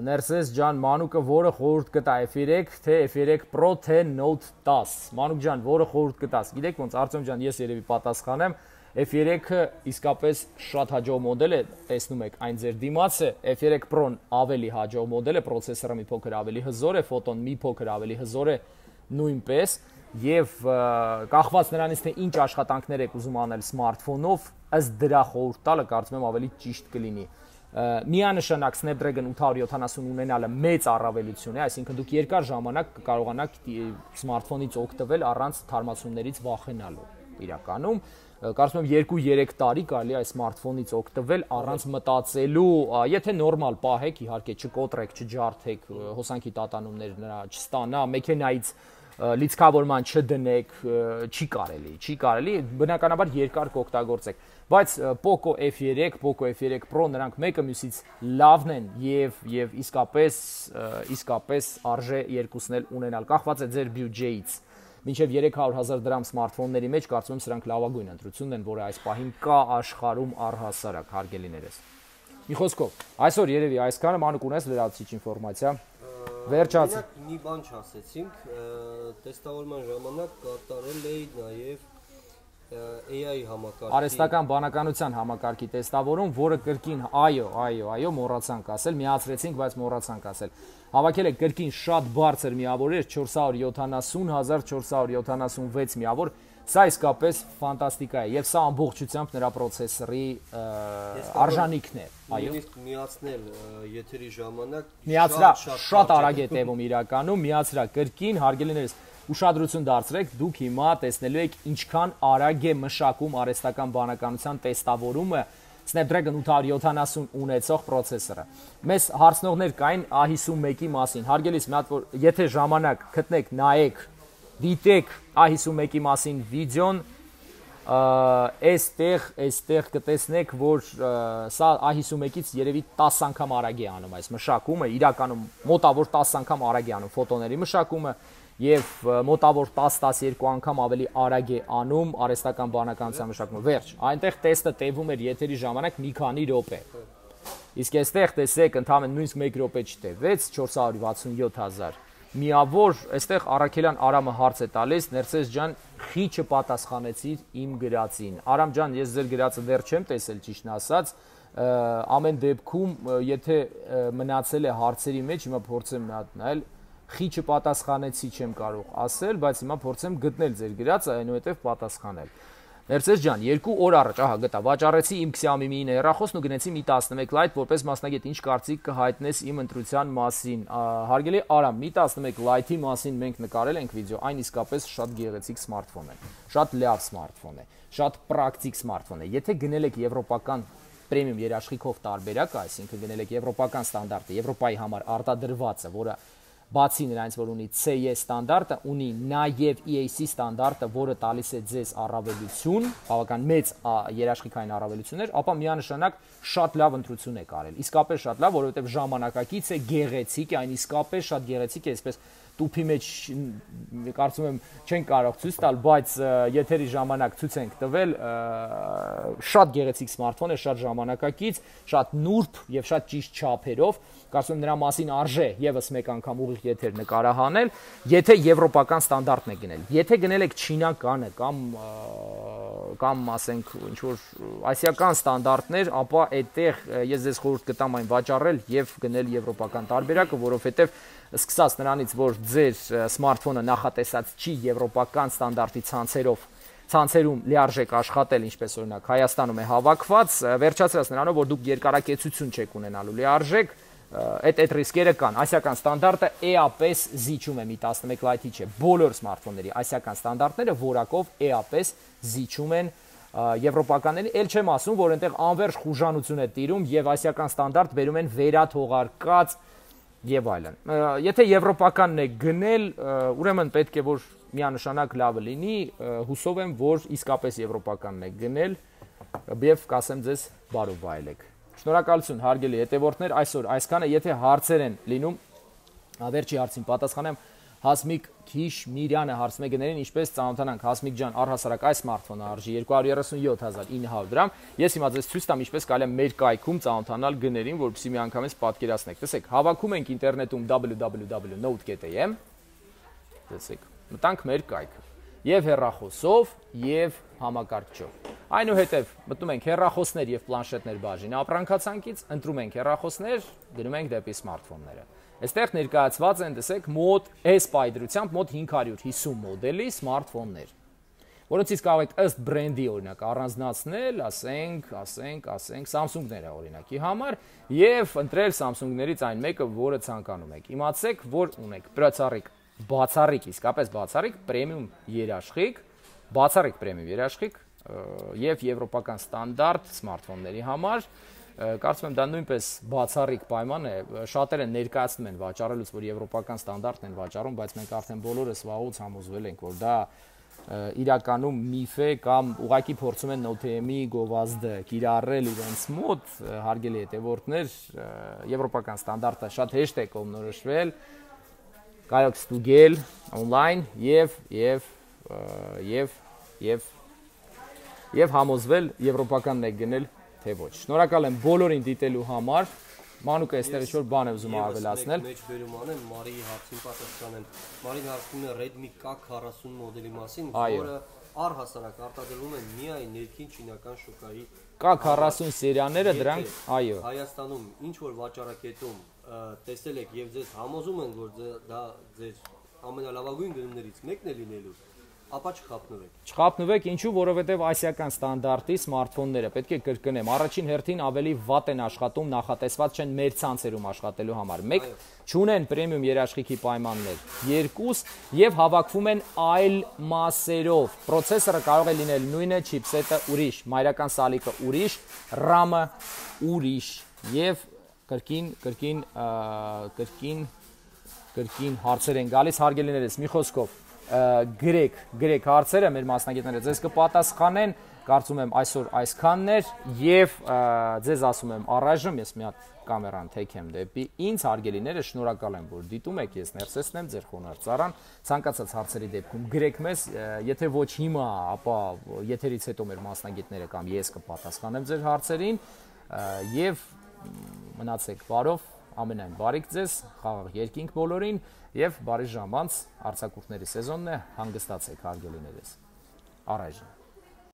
Ներսես ջան, Մանուկը որը խորհուրդ կտա F երեք, թե F երեք Pro, թե Note տաս։ Մանուկ ջան, որը խորհուրդ կտաս։ Գիտեք ոնց, Արտյոմ ջան, ես երևի պատասխանեմ, F երեքը իսկապես շատ հաջող մոդել է, տեսնում եք, այն ձեր դիմացը, F երեք Pro-ն ավելի հաջող մոդել է, պրոցեսորը մի փոքր ավելի հզոր է, ֆոտոն մի փոքր ավելի հզոր է նույնպես, եւ կախված նրանից թե ինչ աշխատանքներ եք ուզում անել սմարթֆոնով, ըստ դրա խորհուրդ տալը կարծում եմ ավելի ճիշտ կլինի։ Միանշանակ Snapdragon ութ հարյուր յոթանասուն ունենալը մեծ առավելություն է, այսինքն դուք երկար ժամանակ կկարողանաք սմարթֆոնից օգտվել առանց թարմացումներից վախենալու։ Իրականում կարծում եմ երկու երեք տարի կարելի է այս սմարթֆոնից օգտվել առանց մտածելու, եթե նորմալ պահեք, իհարկե չկոտրեք, չջարդեք, հոսանքի տատանումներ նրա չստանա, մեքենայից լիցքավորման չդնեք, չի կարելի, չի կարելի, բնականաբար երկար կօգտագործեք, բայց Poco F երեք, Poco F երեք Pro նրանք մեկը մյուսից լավն են եւ եւ իսկապես իսկապես արժե երկուսն էլ ունենալ, կախված է ձեր բյուջեից։ Մինչև երեք հարյուր հազար դրամ սմարթֆոնների մեջ կարծում եմ սրանք լավագույն ընտրությունն են, որը այս պահին կա աշխարհում առհասարակ, հարգելիներս։ Մի խոսքով, այսօր երևի այսքանը, Մանուկ ունես լրացուցիչ ինֆորմացիա։ Վերջացի։ Մի բան չասեցինք, տեստավորման ժամանակ կատարել էի նաև A I համակարգի արհեստական բանականության համակարգի տեստավորում, որը կրկին այո, այո, այո, մոռացանք ասել, միացրեցինք, բայց մոռացանք ասել։ Հավաքել է կրկին շատ բարձր միավորեր, չորս հարյուր յոթանասուն հազար չորս հարյուր յոթանասունվեց միավոր, սա իսկապես ֆանտաստիկա է, եւ սա ամբողջությամբ նրա պրոցեսորի արժանիքն է, այո։ Նույնիսկ միացնել եթերի ժամանակ միացրա շատ արագ է տևում իրականում, միացրա կրկին, հարգելիներս, ուշադրություն դարձրեք, դուք հիմա տեսնելու եք ինչքան արագ է մշակում արհեստական բանականության տեստավորումը Snapdragon ութ հարյուր յոթանասուն ունեցող պրոցեսորը։ Մեզ հարցնողներ կային A հիսունմեկի մասին։ Հարգելիս, մի հատ որ եթե ժամանակ գտնեք, նայեք, դիտեք A հիսունմեկի մասին վիդեոն, այստեղ, այստեղ կտեսնեք, որ սա A հիսունմեկից երևի տասը անգամ արագ է անում այս մշակումը, իրականում մոտավոր տասը անգամ արագ է անում ֆոտոների մշակումը եւ մոտավոր տասը տասներկու անգամ ավելի արագ է անում արհեստական բանականության մշակումը։ Վերջ, այնտեղ տեստը տևում էր եթերի ժամանակ մի քանի րոպե։ Իսկ այստեղ տեսեք, ընդհանրապես նույնիսկ մեկ րոպե չտևեց, չորս հարյուր վաթսունյոթ հազար։ Միավոր, այստեղ Արաքելյան Արամը հարց է տալիս, Ներսես ջան, խի չպատասխանեցիր իմ գրածին։ Արամ ջան, ես ձեր գրածը դեռ չեմ տեսել, ճիշտն ասած, ամեն դեպքում, եթե մնացել է հարցերի մեջ, հիմա փորձեմ մի հատ նայել, խի չպատասխանեցի չեմ կարող ասել, բայց հիմա փորձեմ գտնել ձեր գրածը, այնուհետև պատասխանել։ Ներսես ջան, երկու օր առաջ, ահա գտա, վաճառեցի իմ Xiaomi-ի հեռախոսն ու գնեցի մի տասնմեկ լայթ, որպես մասնագետ ինչ կարծիք կհայտնես իմ ընտրության մասին։ Հարգելի Արամ, մի տասնմեկ լայթի մասին մենք նկարել ենք վիդեո, այն իսկապես շատ գեղեցիկ սմարթֆոն է, շատ լավ սմարթֆոն է, շատ պրակտիկ սմարթֆոն է։ Եթե գնել եք եվրոպական պրեմիում երաշխիքով տարբերակը, այսինքն գնել եք եվրոպական ստանդարտը, Եվրոպայի համար արտադրվածը, որը բացի նրանից, որ ունի C E ստանդարտը, ունի նաև E A C ստանդարտը, որը տալիս է ձեզ առավելություն, բավական մեծ երաշխիքային առավելություններ, ապա միանշանակ շատ լավ ընտրություն եք արել։ Իսկապես շատ լավ, որովհետև ժամանակակից է, գեղեցիկ է, այն իսկապես շատ գեղեցիկ է, այսպես տուփի մեջ կարծում եմ չեն կարող ցույց տալ, բայց եթերի ժամանակ ցույց ենք տվել, շատ գեղեցիկ սմարթֆոն է, շատ ժամանակակից, շատ նուրբ եւ շատ ճիշտ չափերով, կարծում եմ նրա մասին արժե եւս մեկ անգամ ուղիղ եթեր նկարահանել, եթե եվրոպական ստանդարտն է գնել։ Եթե գնել եք չինականը կամ կամ ասենք ինչ որ ասիական ստանդարտներ, ապա այդտեղ ես ձեզ խորհուրդ կտամ այն վաճառել եւ գնել եվրոպական տարբերակը, որովհետեւ սկսած նրանից, որ ձեր սմարթֆոնը նախատեսած չի եվրոպական ստանդարտի ցանցերով ցանցերում լիարժեք աշխատել, ինչպես օրինակ Հայաստանում է հավաքված, վերջացրած նրանով, որ դուք երկարակեցություն չեք ունենալու լիարժեք, այդ այդ ռիսկերը կան։ Ասիական ստանդարտը էապես զիջում է մի տասնմեկ լայթի չէ, բոլոր սմարթֆոնների ասիական ստանդարտները որակով էապես զիջում են եվրոպականների, ել չեմ ասում, որ այնտեղ անվերջ խուժանություն է տիրում եւ ասիական ստանդարտ բերում են վերաթողարկած եւ այլն։ Եթե եվրոպականն է գնել, ուրեմն պետք է որ միանշանակ լավը լինի, հուսով եմ, որ իսկապես եվրոպականն է գնել եւ կասեմ ձեզ բարով վայելեք։ Շնորհակալություն հարգելի հետևորդներ, այսօր այսքանը, եթե հարցեր են լինում, վերջի հարցին պատասխանեմ, Հասմիկ Քիշմիրյանը հարցում է գներին, ինչպես ծանոթանանք, Հասմիկ ջան, առհասարակ այս սմարթֆոնը արժի երկու հարյուր երեսունյոթ հազար ինը հարյուր դրամ, ես հիմա ձեզ ցույց տամ, ինչպես կարելի է մեր կայքում ծանոթանալ գներին, որպեսզի միանգամից պատկերացնեք։ Տեսեք, հավաքում ենք ինտերնետում w w w dot note dot am, տեսեք, մտանք մեր կայքը, եւ հեռախոսով, եւ համակարգչով։ Այնուհետև մտնում ենք հեռախոսներ եւ պլանշետներ բաժին ապրանքացանկից, ընտրում ենք հեռախոսներ, գնում ենք դեպի սմարթֆոնները։ Այստեղ ներկայացված են, տեսեք, մոտ S պայծրությամբ մոտ հինգ հարյուր հիսուն մոդելի սմարթֆոններ, որոնցից կարող եք ըստ բրենդի օրինակ առանձնացնել, ասենք, ասենք, ասենք Samsung-ները օրինակի համար եւ ընտրել Samsung-ներից այն մեկը, որը ցանկանում եք։ Իմացեք, որ ունեք բացառիկ, բացառիկ, իսկապես բացառիկ պրեմիում երաշխիք, բացառիկ պրեմիում երաշխիք եւ եվրոպական ստանդարտ սմարթֆոնների համար, կարծում եմ դա նույնպես բացառիկ պայման է, շատերը ներկայացնում են վաճառելուց, որ եվրոպական ստանդարտն են վաճառում, բայց մենք արդեն բոլորս վաղուց համոզվել ենք, որ դա իրականում միֆ է կամ ուղղակի փորձում են նոթ-ի գովազդը կիրառել իրենց մոտ, հարգելի հետևորդներ, եվրոպական ստանդարտը շատ հեշտ է կողմնորոշվել, կարող ստուգել on-line եւ եւ եւ եւ եւ համոզվել եվրոպականն է գնել թե ոչ։ Շնորհակալ եմ բոլորին դիտելու համար։ Մանուկը այստեղ ինչ-որ բան է ուզում ավելացնել։ Մեջ բերում անեմ, Մարիի հարցին պատասխանեմ։ Մարին հարցնում է Redmi K քառասուն մոդելի մասին, որը առհասարակ արտադրվում է միայն ներքին չինական շուկայի։ K քառասուն սերիաները դրանք, այո։ Հայաստանում ինչ որ վաճառակետում տեսել եք եւ ձեզ համոզում են, որ դա ձեր ամենալավագույն գնումներից մեկն է լինելու, ապա չխափնվեք։ Չխափնվեք, ինչու, որովհետև ասիական ստանդարտի սմարթֆոնները, պետք է կրկնեմ, առաջին հերթին ավելի վատ են աշխատում, նախատեսված չեն մեր ցանցերում աշխատելու համար։ Մեկ, չունեն պրեմիում երաշխիքի պայմաններ, երկուս, եւ հավաքվում են այլ մասերով։ Պրոցեսորը կարող է լինել նույնը, չիպսետը ուրիշ, մայրական սալիկը ուրիշ, RAM-ը ուրիշ եւ կրկին, կրկին, կրկին, կրկին հարցեր են գալիս, հարգելիներս, մի խոսքով գրեք, գրեք հարցերը, մեր մասնագետները ձեզ կպատասխանեն, կարծում եմ այսօր այսքանն էր եւ ձեզ ասում եմ առայժմ ես մի հատ կամերան թեքեմ դեպի ինձ, հարգելիները, շնորհակալ եմ, որ դիտում եք, ես Ներսեսն եմ, ձեր խոնարհծառան, ցանկացած հարցերի դեպքում գրեք մեզ, եթե ոչ հիմա, ապա եթերից հետո մեր մասնագետները կամ ես կպատասխանեմ ձեր հարցերին եւ մնացեք բարով, ամենայն բարիք ձեզ, խաղաղ երկինք բոլորին եւ բարի ժամանց արձակուրդների սեզոնն է, հանգստացեք հարգելիներս։ Առայժմ